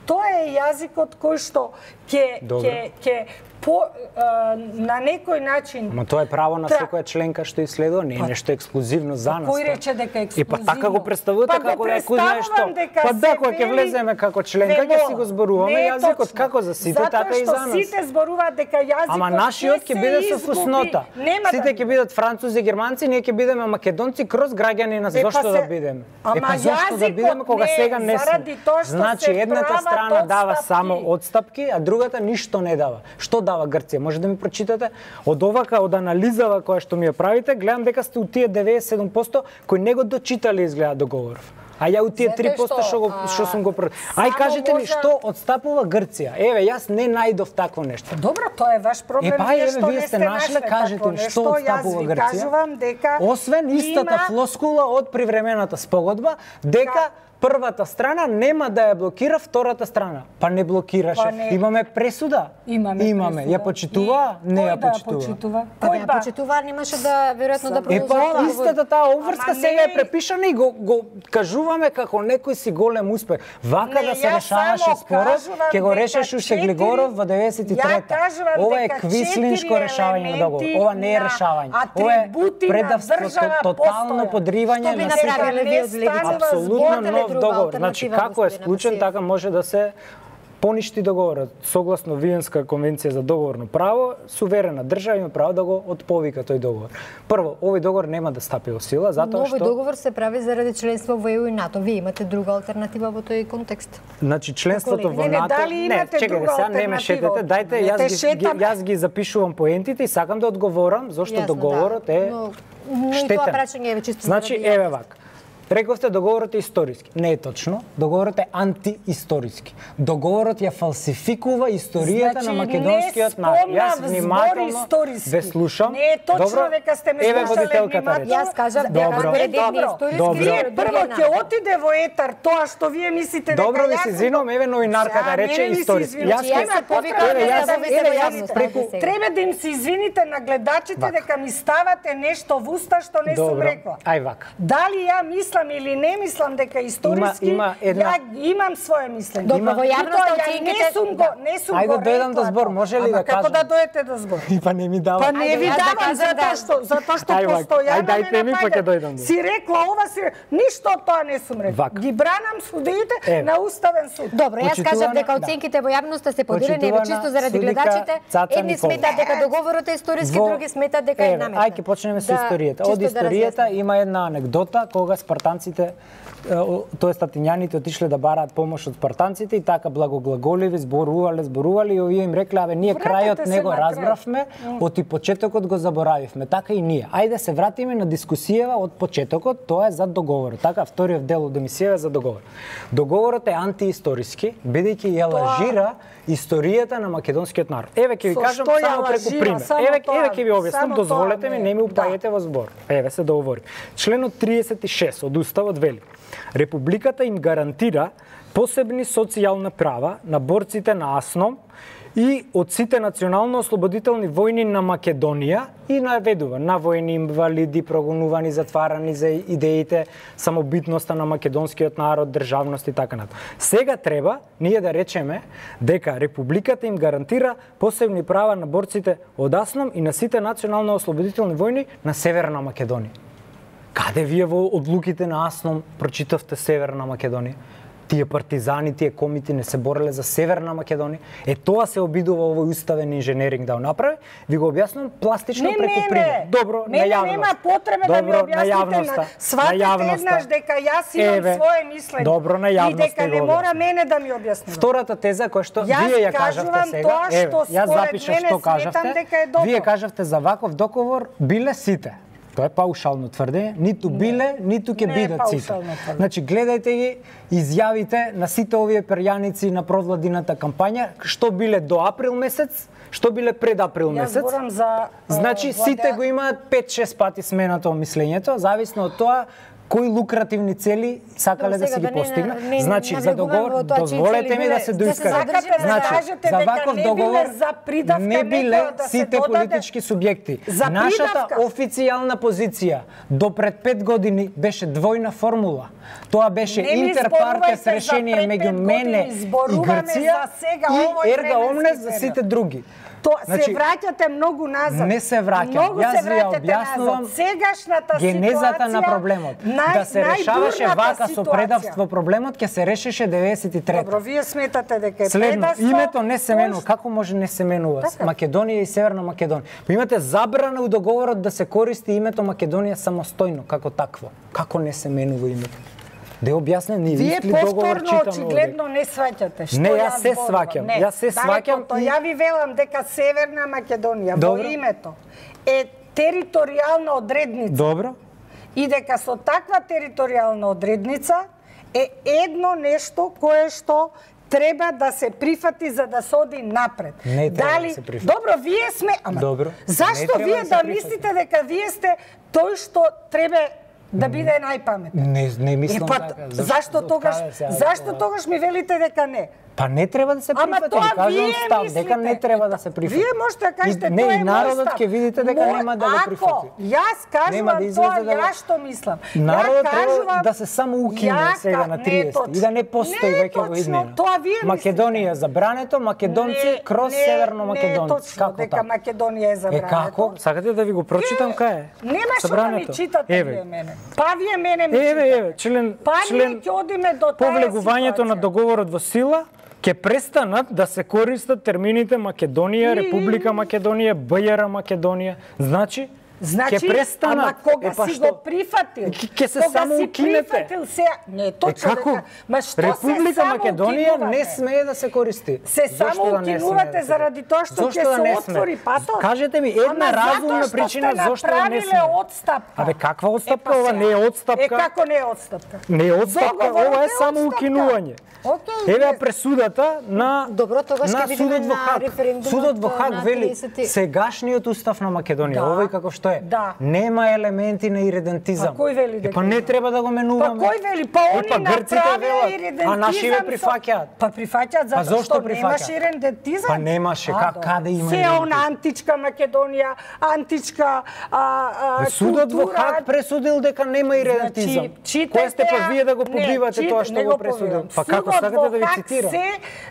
Тоа е јазикот кој што ќе ќе ќе по а, на некој начин. Ама тоа е право на секоја членка што исследува, не е нешто ексклузивно за нас. Кој рече дека е ексклузивно? И па така го представувате па како да кој знае што. Па да, кога ќе влеземе како членка ќе си го зборуваме јазикот како за сите, така и за нас. Затоа што сите зборуваат дека јазикот Ама нашиот ќе биде со фуснота. Сите ќе бидат французи, германци, ние ќе бидеме македонци кроз граѓани на зошто да бидеме. Ама зошто да бидеме кога сега не сме. Значи едната страна дава само одстапки, а другата ништо не дава. Што дава Грција? Може да ми прочитате? Од овака, од анализава која што ми ја правите, гледам дека сте у тие деветдесет и седум проценти кои не го дочитале изгледа договоров. А ја у тие три проценти што го што сум го про... Ај кажете ми што одстапува Грција? Еве, јас не најдов такво нешто. Добро, тоа е ваш проблем. Епа, еве, вие сте нашле, кажете ми што одстапува Грција? Кажувам дека освен истата флоскула од привремената спогодба, дека првата страна нема да ја блокира втората страна. Па не блокираше. Па не. Имаме пресуда. Имаме, Имаме. пресуда. Ја почитува, И... не ја Кој да ја почитува. почитува? Па Кој да ја да? почитува, немаше да веројатно да Е продолжува. па истата таа обврска Ама сега е не- препишана и го, го кажуваме како некој си голем успех. Вака Не, да се јас решаваше само спорот, кажувам ќе го дека решеше уште четири- Глигоров во деветдесет и трета. Ја кажувам Ова е дека квислиншко четири решавање на договор. елементи Ова не е на решавање. Ова е атрибути на предавство, држава тотално постоја. подривање Што би на направиле сите. вие од Левица? Апсолутно Имате ли нов друга договор. алтернатива, Значи како е господине склучен, Васиев? така може да се поништи договорот. Согласно Виенска конвенција за договорно право, суверена држава има право да го отповика тој договор. Прво, овој договор нема да стапи во сила затоа Новој што договор се прави заради членство во Е У и НАТО. Вие имате друга алтернатива во тој контекст? Значи членството во Не, не, НАТО, дали имате чекајте, друга сега не ме алтернатива? шетете, дајте Не јас те ги, ги шетам. јас ги запишувам поентите и сакам да одговорам зошто Јасно, договорот да. е Но- но и штетен. тоа прашање е чисто Значи заради еве јавност. вака. Рековте договорот е историски. Не е точно. Договорот е антиисториски. Договорот ја фалсификува историјата Значи, на македонскиот не народ. спомнав Јас збор внимателно историски. ве слушам. Не е точно Добро? дека сте ме Еве слушале водителката внимателно. рече. Јас кажав дека Добро. според Е, едни добро. историски, Добро. Вие според прво други ќе не. отиде во етар тоа што вие мислите дека Добро ви јас се сум извинувам, го- еве новинарката Сега, рече мене ми се историски. извинувам. Јас Јас Има се потребно повикам да да ја се се повите во извините. јавност, преку- сега. Треба да им се извините на гледачите Вака. дека ми ставате нешто во уста што не сум Добро. рекла. Ај вака. Дали ја мислам или не мислам дека историски, Има- има една- ја имам свое мислење. Добро, во јавност Меѓутоа, ја оценките- не сум го, не сум Ајде го дојдам да рекла збор, тоа. може ли Ама да како кажам? да дојдете да збор? И па не ми дава. Па не Ајде, ви јас да давам кажам затоа да. што затоа што Ај, вака. постојано Ај, дајте ме ми, па напаѓате. ќе дојдам. Си рекла ова си ништо од тоа не сум рекла. Вака. Ги бранам судиите Еве. на уставен суд. Добро, јас Почитувана- кажав дека да. оценките во јавноста се поделени, еве Почитувана чисто заради судика гледачите. Цаца Едни Николова. сметаат дека договорот е историски, Во- други сметаат дека е Еве, наметнат. Ајде ќе почнеме со Да, историјата. чисто Од да историјата разјасним. има една анегдота кога спартанците тоест атинјаните отишле да бараат помош од спартанците и така благоглаголиви, зборувале, зборувале и овие им рекле, абе ние Вратете крајот се не го на крај. разбравме, од и почетокот го заборавивме. Така и ние. Ајде се вратиме на дискусијава од почетокот, тоа е за договорот. Така вториот дел од емисијава е за договор. Договорот е антиисториски, бидејќи ја лажира историјата на македонскиот народ. Еве ќе ви Со кажам што ја само преку лажира? пример. Само Еве тоа, еве ќе ви објаснам, само дозволете тоа, ми, не. не ми Да. упаѓате во збор. Еве се договорим. Членот триесет и шест од Уставот вели: Републиката им гарантира посебни социјални права на борците на АСНОМ и од сите национално-ослободителни војни на Македонија и наведува на војни инвалиди, прогонувани, затварани за идеите, самобитноста на македонскиот народ, државност и така натаму. Сега треба ние да речеме дека Републиката им гарантира посебни права на борците од АСНОМ и на сите национално-ослободителни војни на Северна Македонија. Каде вие во одлуките на АСНОМ прочитавте Северна Македонија? Тие партизани, тие комити не се бореле за Северна Македонија. Е тоа се обидува овој уставен инженеринг да го направи. Ви го објаснувам пластично Не преку мене. пример. Добро, Мене на јавност. нема потреба да ми Добро, објасните на на- јавноста. сватете на јавноста. еднаш дека јас имам Еве, свое мислење. Добро, на И јавноста дека не го мора објаснувам. мене да ми објаснува. Втората теза која што Јас вие ја кажавте кажувам сега, тоа што еве, јас според запишав мене што сметам кажавте. дека е добро. Вие кажавте за ваков договор биле сите. Тоа е паушално тврдење, ниту биле, ниту ќе Не е бидат сите. паушално тврдење. Значи гледајте ги изјавите на сите овие перјаници на провладината кампања, што биле до април месец, што биле пред април Јас месец. зборам за Значи а, сите владеа- го имаат пет-шест пати сменато мислењето, зависно од тоа кои лукративни цели сакале Добро, да си сега ги да не на- постигнат. не Значи за навлегуваме договор во тоа чии дозволете цели ми биле. да се Да се доискажам. задржиме Сакате да Значи, кажете за дека ваков не договор биле за придавка не биле некоја да се сите додаде- политички субјекти. За Нашата придавка. официјална позиција до пред пет години беше двојна формула. Тоа беше Не ми интерпартес зборувајте за решение пред меѓу пет мене години, и зборуваме Грција за сега, овој и Ерга временски Омнес за период. сите други. Тоа Значи, се враќате многу назад. Не се враќам. Многу Јас се ви ја враќате објаснувам назад. Сегашната генезата на ситуација, проблемот. нај- Да се решаваше најдурната вака со ситуација. предавство проблемот, ќе се решеше деветдесет и трета. Добро, вие сметате дека е Следно, предавство. името не се менува. Пошто- Како може не се менува? Така. Македонија и Северна Македонија. Па имате забрана у договорот да се користи името Македонија самостојно, како такво. Како не се менува името? Да ја објаснем, ние Вие исти договор повторно читаме очигледно не сваќате што Не, јас јас се зборувам. сваќам. Не, Јас се сваќам далеко, и- Ја ви велам дека Северна Македонија Добро. во името е територијална одредница Добро. и дека со таква територијална одредница е едно нешто кое што треба да се прифати за да се оди напред. Не треба да се прифати. Добро, вие сме, ама Добро. Не зашто треба вие да се да прифати. мислите дека вие сте тој што треба да биде најпаметен. Не, не мислам е, па, така. Зашто тогаш, зашто тогаш ми велите дека не? Па не треба да се прифати, тоа кажам вие став, мислите. дека не треба да се прифати. Вие можете да кажете, не, тоа е и народот мој став. ќе видите дека Мој, нема да го прифати. Ако јас кажувам да тоа, да... ја што мислам. Народот ја треба кажувам, да се само укине сега на триесет и да не постои веќе во иднина. Тоа вие Македонија е забрането, македонци не, крос не, северно македонци. Не е точно како дека така? Македонија е забрането. Е како? Сакате да ви го прочитам кај е? Нема што да ми читате еве. вие мене. Па вие мене ми еве, читате. Еве, член, па член ќе одиме до таа повлегувањето на договорот во сила ќе престанат да се користат термините Македонија, Република Македонија, БЈР Македонија. Значи, Значи, ќе престанат. Ама кога е, па си што? го прифатил, ќе се кога само си укинете. прифатил се, не точно е, како? дека, ма што Република се само Македонија укинувате? не смее да се користи. Се Зошто само да не укинувате смее да се... заради тоа што ќе да се отвори патот? Кажете ми една Ама разумна затоа причина што сте зошто да не направиле смее. Отстапка. Абе каква отстапка? Е, па ова сега. не е отстапка. Е како не е отстапка? Не е отстапка, Договорот ова е е само отстапка. укинување. Okay, Еве пресудата на Добро, тогаш на ќе видиме судот во на Хаг. референдумот Судот во Хаг на вели тридесети сегашниот устав на Македонија, Да. овој како што е, Да. нема елементи на иредентизам. Па кој вели Е, дека па не има? треба да го менуваме. Па кој вели? Па Е, они па грците направија велат, иридентизам. а наши ве со- прифаќаат. Па прифаќаат А затоа зошто што прифаќаат? немаше иридентизам. Па немаше, А, как- добро. каде има Се иридентизам? она античка Македонија, античка а, а, Судот во култура. Хаг пресудил дека нема иридентизам. Значи, читате Кој сте па ја- вие да го не, побивате чит- тоа што не го пресудил? побивам. Па како Судот сакате да ви во Хаг цитирам? се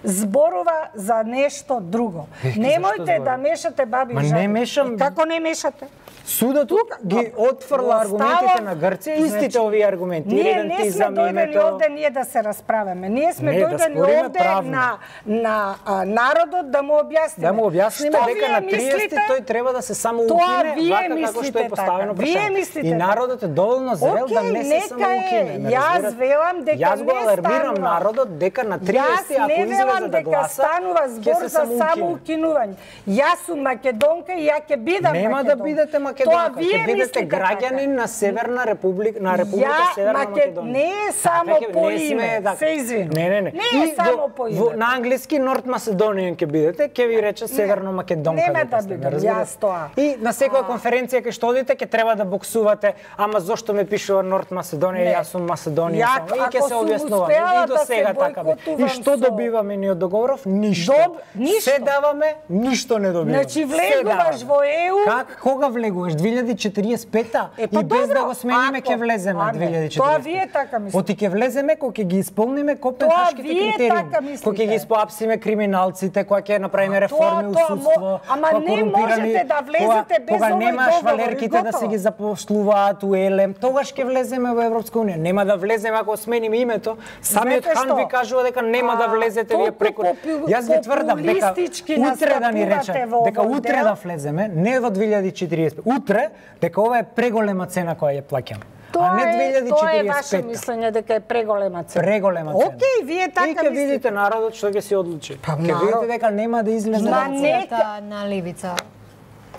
зборува за нешто друго. Е, зашто Немојте зборува? да мешате баби Ма и не жаби. мешам. Е, Како не мешате? Судот ги отфрла аргументите на Грција, истите овие аргументи. Ние не сме Иридентизам, дојдени името... овде ние да се расправаме. Ние сме Не, да дојдени спориме овде правно. на на а, народот да му објасниме. Да му објасниме Што дека вие на триесет мислите? тој треба да се само Тоа укине, вие вака како мислите што е поставено така. Вие прашање. мислите И така. народот е доволно зрел да Океј, не се нека само е. укине. ме Јас разбирате? велам дека Јас го не алармирам станува. народот дека на Јас триесет ако не велам излезе да дека гласа, станува ќе збор се за само укине. укинување. Јас сум македонка и ја ќе бидам Нема македонка. да бидете Тоа македонка, вие ќе бидете мислите граѓанин на Северна република, на Република Ја, Северна Маке- Македонија. не е само Така ќе- по не сме име, така. се извинувам. Не, не, не. Не е И само во- по име. во- На англиски Норт Macedonian ќе бидете, ќе ви рече Северно Македонка. нема дека да сте, бидам, разбирате? јас тоа. И на секоја конференција кај што одите ќе треба да боксувате, ама зошто ме пишува Норт Macedonија, Не. јас сум Macedonија Ја, само. И ќе ако се сум објаснуваме. успеала И до да се сега така бе. И бойкотувам што со- добиваме ние од договоров? Ништо. Доб- ништо. Се даваме, ништо не добиваме. Значи, Се влегуваш даваме. во Е У. Как кога влегуваш? две илјади и четириесет и пета Е, па и без добро, да го смениме ако- ќе влеземе а, не, две илјади и четириесет. тоа вие така мислите. Оти ќе влеземе кога ќе ги исполниме копенхашките вие критериуми. така мислите. Кога ќе ги испоапсиме криминалците, кога ќе направиме А, реформи тоа- у тоа мо- судство. ама кога не корумпирани- можете да влезете кога- без Кога овој нема договор, швалерките и да се готово. ги запослуваат у Елем, тогаш ќе влеземе во Европска унија. Нема да влеземе ако смениме името. Самиот Знаете хан што? ви кажува дека нема да А, влезете вие толку преку. попу- Јас ви тврдам дека популистички утре да ни настапувате рече во дека овој утре дел. да влеземе, не во две илјади и четириесет. Утре дека ова е преголема цена која ја плаќаме. А Тоа не е, две илјади и тоа е четириесет и ваше пета. мислење дека е преголема цена. Преголема цена. Океј, вие така И ќе мислите. видите народот што ќе се одлучи. Па, Ќе народ- видите дека нема да излезе. Ма на не. Позицијата на левица.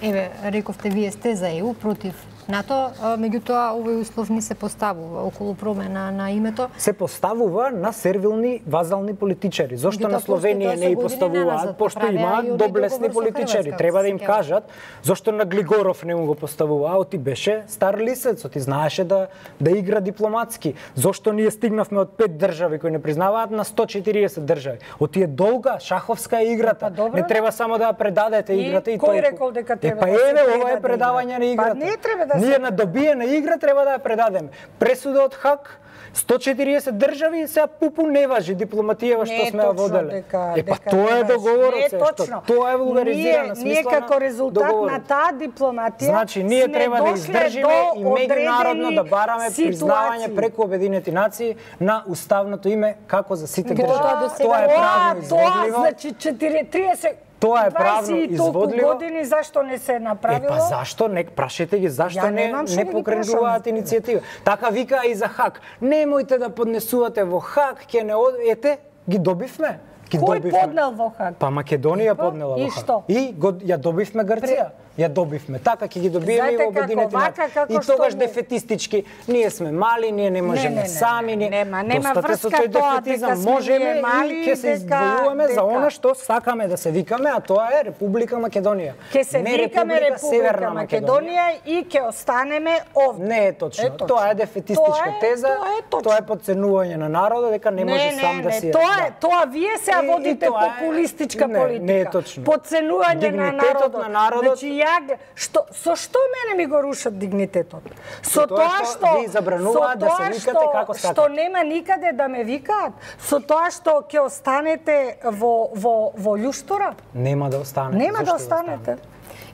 Еве, рековте вие сте за Е У, против НАТО, а, меѓутоа овој услов не се поставува околу промена на името. Се поставува на сервилни вазални политичари. Зошто Меѓутоа, на Словенија постои не и тоа со години поставуваат? наназад, Пошто правеа и имаат оној доблесни договор со политичари. Хрватска, Треба да им се сеќавам. кажат зошто на Глигоров не му го поставува, оти беше стар лисец, оти знаеше да да игра дипломатски. Зошто ние стигнавме од пет држави кои не признаваат на сто и четириесет држави? Оти е долга, шаховска е играта. Па, добро. Не треба само да ја предадете И играта и кој тој. рекол дека треба Е, па да се еве, ова предаде е предавање на играта? играта. Па не треба да се Ние на добиена игра треба да ја предадеме. Пресуда од Хаг, сто и четириесет држави, сега пупу не важи дипломатијава што Не е сме ја точно воделе. дека- Е, па дека тоа не е важи. договорот, Не е се, што точно. тоа е вулгаризирана Ние- смисла Ние како резултат договорот. на таа дипломатија Значи, ние сме треба да дошле издржиме до и меѓународно одредени да бараме признавање ситуации. преку Обединети нации на уставното име како за сите Меѓутоа, држави. до сега- Тоа е Тоа, правно тоа, изводливо. значи четири- триесет Тоа е правно дваесет и толку изводливо. години зашто не се Е, направило? па зашто? Не прашете ги, зашто Ја не, немам што не да ги покренуваат прашам. иницијатива. Така вика и за Хаг. Немојте да поднесувате во Хаг, ќе не од... Ете, ги добивме. Ги Кој добивме. поднел во Хаг? Па Македонија Па, поднела и во Хаг. што? И го, ја добивме Грција. ја добивме. Така ќе ги добиеме и во Обединети нации. И тогаш дефетистички, ние сме мали, ние не можеме сами, ние нема нема врска тој тоа дефетизам, можеме и ќе се избојуваме за она што сакаме да се викаме, а тоа е Република Македонија. Ќе се викаме Република Македонија и ќе останеме овде. Не е точно. Тоа е дефетистичка теза, тоа е подценување на народот дека не може сам да си. Тоа е, тоа вие се водите популистичка политика. Не е точно. Подценување на народот. на народот. Значи ја што со што мене ми го рушат дигнитетот? Со тоа што ви забрануваат да се викате како сакате. Што нема никаде да ме викаат, со тоа што ќе останете во во во љуштора? Нема да останете. Нема да останете.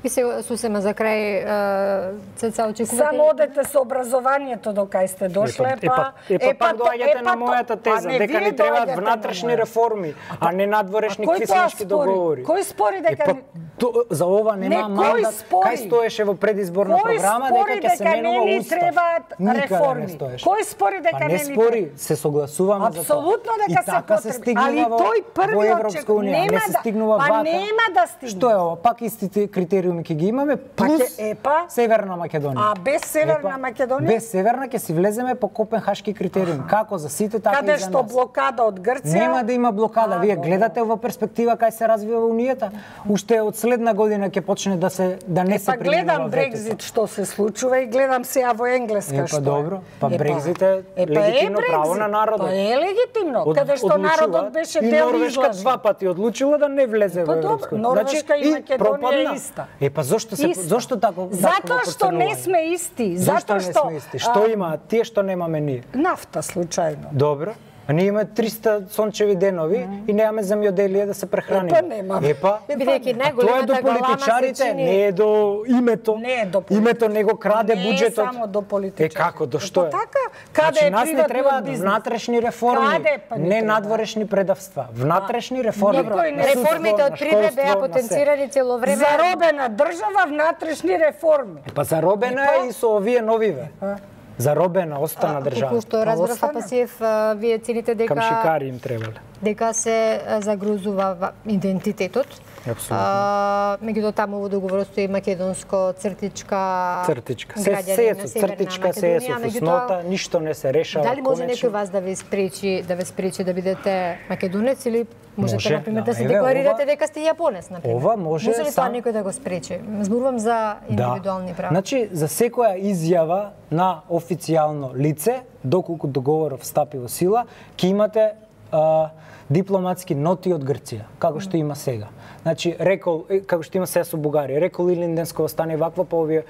И се сусема за крај, Цеца, очекувате... Само одете со образованието до кај сте дошле, па... Епа, пак доаѓате на мојата теза, дека ни требаат внатрешни реформи, а не надворешни квисливички договори. Кој спори дека... За ова нема мандат, кај стоеше во предизборна програма дека ќе се менува устав. Никаде не стоеше. Кој спори дека не ни треба? Не спори, се согласуваме за тоа. Апсолутно дека се потребни. Али тој првиот чек нема да... Па нема да стигне. Што е ова? Пак истите критериуми ќе ги имаме, плюс Северна Македонија. А без Северна Македонија? Без Северна ќе си влеземе по копенхашки критериуми. Како за сите, така и за нас. Каде што блокада од Грција? Нема да има блокада. Вие гледате во перспектива кај се развива Унијата. Уште од следна година ќе почне да се да не се применува. Па гледам Брекзит што се случува и гледам сега во Енглеска што е. Па добро. Па Брекзит е легитимно право на народот. Па е легитимно. Каде што народот беше дел излажен. И Норвешка два пати одлучила да не влезе во Европска. Норвешка и Македонија е иста. Е па зошто се зошто тако? Затоа што не сме исти, затоа што не сме исти. Што имаат тие што немаме ние? Нафта случајно. Добро. А ние имаме триста сончеви денови mm. и немаме земјоделие да се прехраниме. Епа нема. Епа, бидејќи тоа е до политичарите, не е до името. Не е до името не го краде не буџетот. Не е само до политичарите. Е како, до што е? Па така, каде значи, е нас не треба внатрешни реформи, Каде, не надворешни предавства. Внатрешни реформи. Никој не реформите од пред беа потенцирани цело време. Заробена држава, внатрешни реформи. Па заробена е и со овие новиве. Заробена остана држава. Колку што разбрав Апасиев, вие цените дека Кам шикари им требале. Дека се загрузува идентитетот. Апсолутно. Меѓутоа таму во договорот стои македонско цртичка цртичка. Се се е цртичка, се е со фуснота, ништо не се решава. Дали може некој вас да ви спречи, да ве спречи да бидете македонец или можете може, например да, да се еве, декларирате ова, дека сте јапонец, например? Ова може Може ли сам... тоа некој да го спречи? Зборувам за индивидуални да. права. Значи, за секоја изјава на официјално лице, доколку договорот стапи во сила, ќе имате а, дипломатски ноти од Грција, како што има сега. Значи, рекол, како што има сега со Бугарија, рекол Илинденско стане ваква по овие,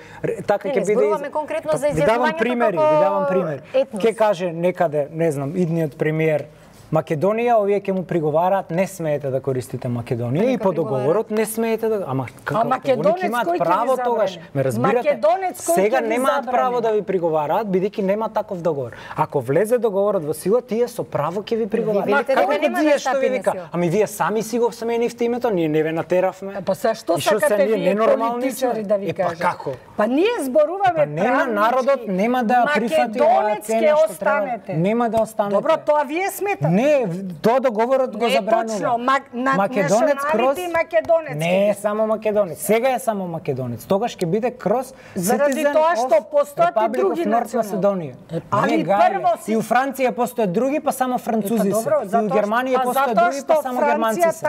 така ќе биде. Зборуваме конкретно за изјавувањето. Ви давам примери, ви давам пример. Етнос. Ќе каже некаде, не знам, идниот премиер Македонија, овие ќе му приговараат, не смеете да користите Македонија и по договорот не смеете да, ама како? А македонец имаат кој право ќе тогаш, ме разбирате? Македонец кој сега ќе немаат право да ви приговараат бидејќи нема таков договор. Ако влезе договорот во сила, тие со право ќе ви приговараат. Како вие што ви вика? Ами вие сами си го сменивте името, ние не ве натеравме. Па се што сакате вие политичари да ви кажат? Па како? Па ние зборуваме правнички. Па нема народот нема да прифати оваа цена што треба. Нема да останете. Добро, тоа вие сметате. Не, тоа договорот го забранува. Не точно, на македонец кроз македонец. Не е само македонец. Сега е само македонец. Тогаш ќе биде кроз заради тоа што постојат и други националности. Али прво и у Франција постојат други, па само французи се. И у Германија постојат други, па само германци се.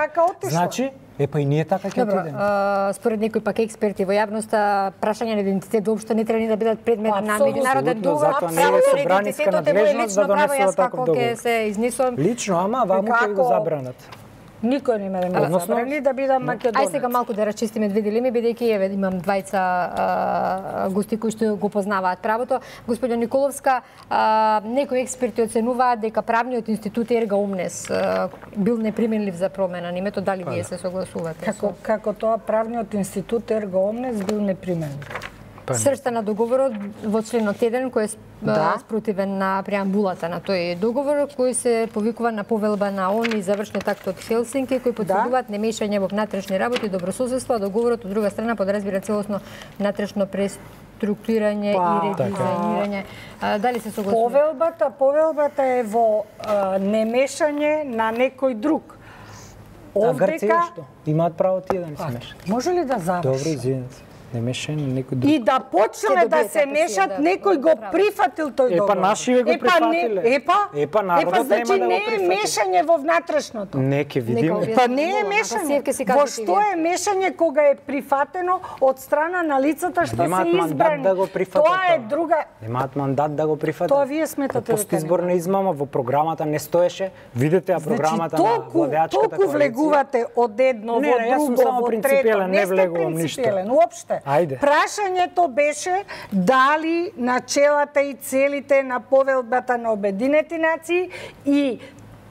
Значи, е па и ние така ќе отидеме. Според некои пак експерти во јавноста, прашање на идентитет воопшто не треба да бидат предмет на меѓународен договор. Затоа не е собраниска надлежност да донесува таков договор. Ќе се изнесувам. Лично, ама ваму ќе ви го забранат. Никој не ме да забрани да бидам македонец. Ај сега малку да расчистиме две дилеми, бидејќи еве имам двајца а, гости кои што го познаваат правото. Господио Николовска, а, некои експерти оценуваат дека правниот институт Ерга Омнес а, бил неприменлив за промена на името, дали вие се согласувате? Како како тоа правниот институт Ерга Омнес бил неприменлив? Сршта на договорот во членот еден кој е да. спротивен на преамбулата на тој договор, кој се повикува на повелба на ООН и завршниот акт од Хелсинки, кои потврдуваат да. немешање во внатрешни работи и добрососедство, а договорот од друга страна подразбира целосно внатрешно преструктурирање па, и редизајнирање. Така. Дали се согласувате? Повелбата, повелбата е во а, немешање на некој друг. Овдека... А Грција што? Имаат право тие да не се мешаат. Може ли да завршам? Добро, извинете. Не мешање некој друг. И да почнеме да се мешат, некој го прифатил тој договор. Епа нашиве го прифатиле. Епа, епа народот значи, нема да го не е мешање во внатрешното. Не, ке видиме. Па не е мешање. Во што е мешање кога е прифатено од страна на лицата што се избрани? Да го прифатат. Тоа е друга. Немаат мандат да го прифатат. Тоа вие сметате дека постизборна измама во програмата не стоеше. Видете ја програмата значи, на владеачката коалиција. Толку влегувате од едно не, во не, друго, во трето. Не влегувам ништо. Уопште. Прашањето беше дали начелата и целите на повелбата на Обединети нации и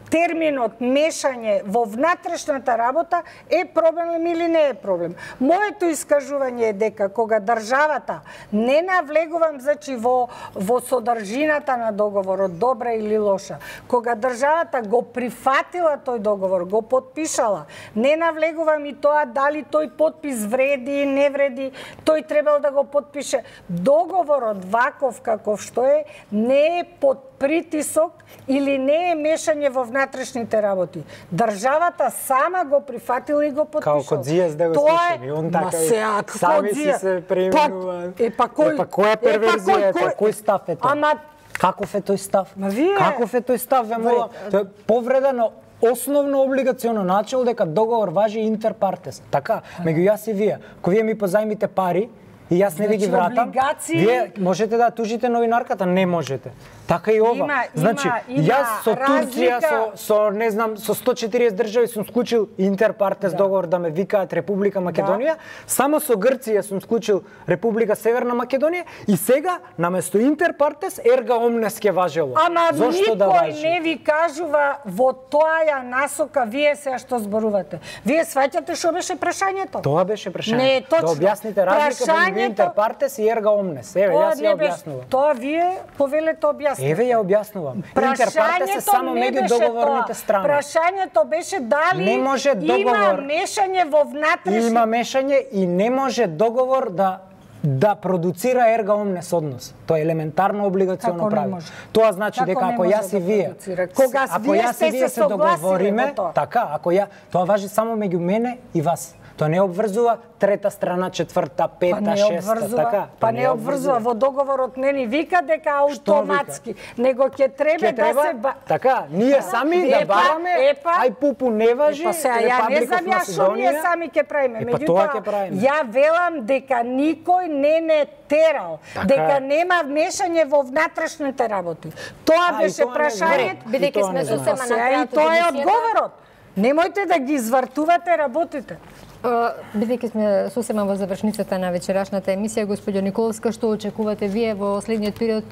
терминот мешање во внатрешната работа е проблем или не е проблем. Моето искажување е дека кога државата, не навлегувам значи во во содржината на договорот, добра или лоша, кога државата го прифатила тој договор, го подпишала, не навлегувам и тоа дали тој подпис вреди, не вреди, тој требал да го подпише. Договорот ваков каков што е, не е под притисок или не е мешање во внатрешните работи. Државата сама го прифатила и го подпишала. Као Кодзијас да го слушаме. Он така е. Сами си се преименува. Е, па кој? Епа која перверзија е тоа? Кој став е тоа? Ама каков е тој став? Ма вие Каков е тој став, ве мола? Тоа е повреда на основно облигационо начело дека договор важи интер партес. Така, меѓу јас и вие. Кога вие ми позајмите пари, и јас не ви ги вратам, вие можете да тужите новинарката? Не можете. Така и ова. Има, значи, има, има јас со Турција, разлика... со, со, не знам, со сто и четириесет држави сум склучил интерпартес да. договор да ме викаат Република Македонија, да. Само со Грција сум склучил Република Северна Македонија и сега, наместо интерпартес, ерга омнес ке важело. Ама Зошто никој да важи? не ви кажува во тоја насока вие сега што зборувате. Вие сваќате што беше прашањето? Тоа беше прашањето. Не е точно. Да објасните разлика меѓу интерпартес и ерга омнес. Еве, јас ја објаснувам. Тоа вие повелете објаснете. Еве ја објаснувам. Интерпартес е само меѓу договорните страни. Прашањето беше дали не може договор, има мешање во внатрешни... Има мешање и не може договор да да продуцира ерга омнес однос. Тоа е елементарно облигационно правило. Тоа значи Како дека ако јас и вие, кога ако јас и вие се договориме, така, ако ја, тоа важи само меѓу мене и вас. Тоа не обврзува трета страна, четврта, пета, па шеста, така. Па не обврзува. Во договорот не ни вика дека автоматски, него ќе треба да се ба... Така, ние сами да бараме, ај пупу не важи, Епа сега, ја не знам ја што ние сами ќе правиме. Меѓутоа, ја велам дека никој не не терал, дека нема мешање во внатрешните работи. Тоа беше прашањето, бидејќи сме сосема на крајот. И тоа е одговорот. Немојте да ги извртувате работите. Бидејќи сме сосема во завршницата на вечерашната емисија, господјо Николовска, што очекувате вие во следниот период,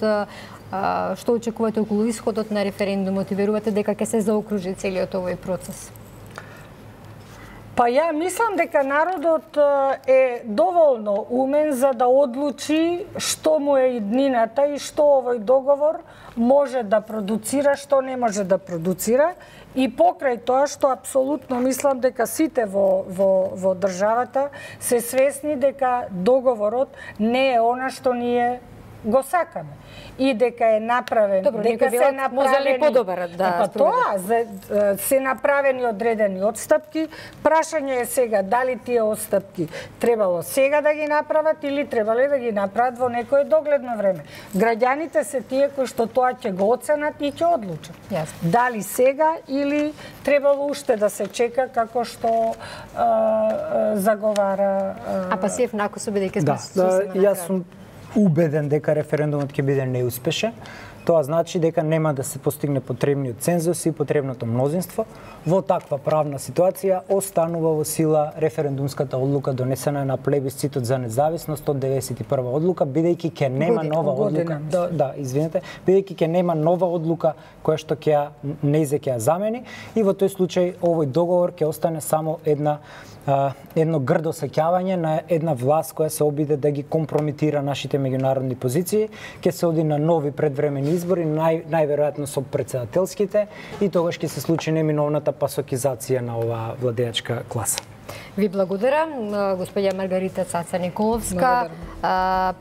што очекувате околу исходот на референдумот и верувате дека ќе се заокружи целиот овој процес? Па ја мислам дека народот е доволно умен за да одлучи што му е иднината и што овој договор може да продуцира, што не може да продуцира. И покрај тоа што апсолутно мислам дека сите во, во, во државата се свесни дека договорот не е она што ние го сакаме. И дека е направен, Добро, дека се направени подобар да па тоа се направени одредени отстапки. Прашање е сега дали тие отстапки требало сега да ги направат или требале да ги направат во некое догледно време. Граѓаните се тие кои што тоа ќе го оценат и ќе одлучат. Јасно. Дали сега или требало уште да се чека како што а, а, заговара а... А Пасиев накусо бидејќи сме да, јас сум убеден дека референдумот ќе биде неуспешен. Тоа значи дека нема да се постигне потребниот цензус и потребното мнозинство. Во таква правна ситуација останува во сила референдумската одлука донесена на плебисцитот за независност од деветдесет и прва одлука, бидејќи ќе нема година, нова година. одлука. Да, да, извинете, бидејќи ќе нема нова одлука која што ќе ја нејзе ќе ја замени и во тој случај овој договор ќе остане само една Uh, едно грдо сеќавање на една власт која се обиде да ги компрометира нашите меѓународни позиции, ќе се оди на нови предвремени избори, нај, најверојатно со председателските, и тогаш ќе се случи неминовната пасокизација на оваа владеачка класа. Ви благодарам, господја Маргарита Цаца Николовска,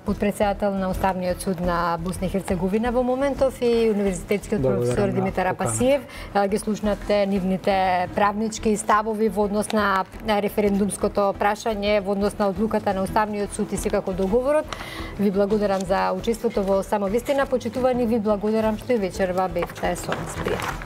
подпредседател на Уставниот суд на Босна и Херцеговина во моментов и универзитетскиот професор Димитар Апасиев. Ги слушнате нивните правнички ставови во однос на референдумското прашање, во однос на одлуката на Уставниот суд и секако договорот. Ви благодарам за учеството во Само вистина. Почитувани, ви благодарам што и вечерва бевте со нас. Пријатно.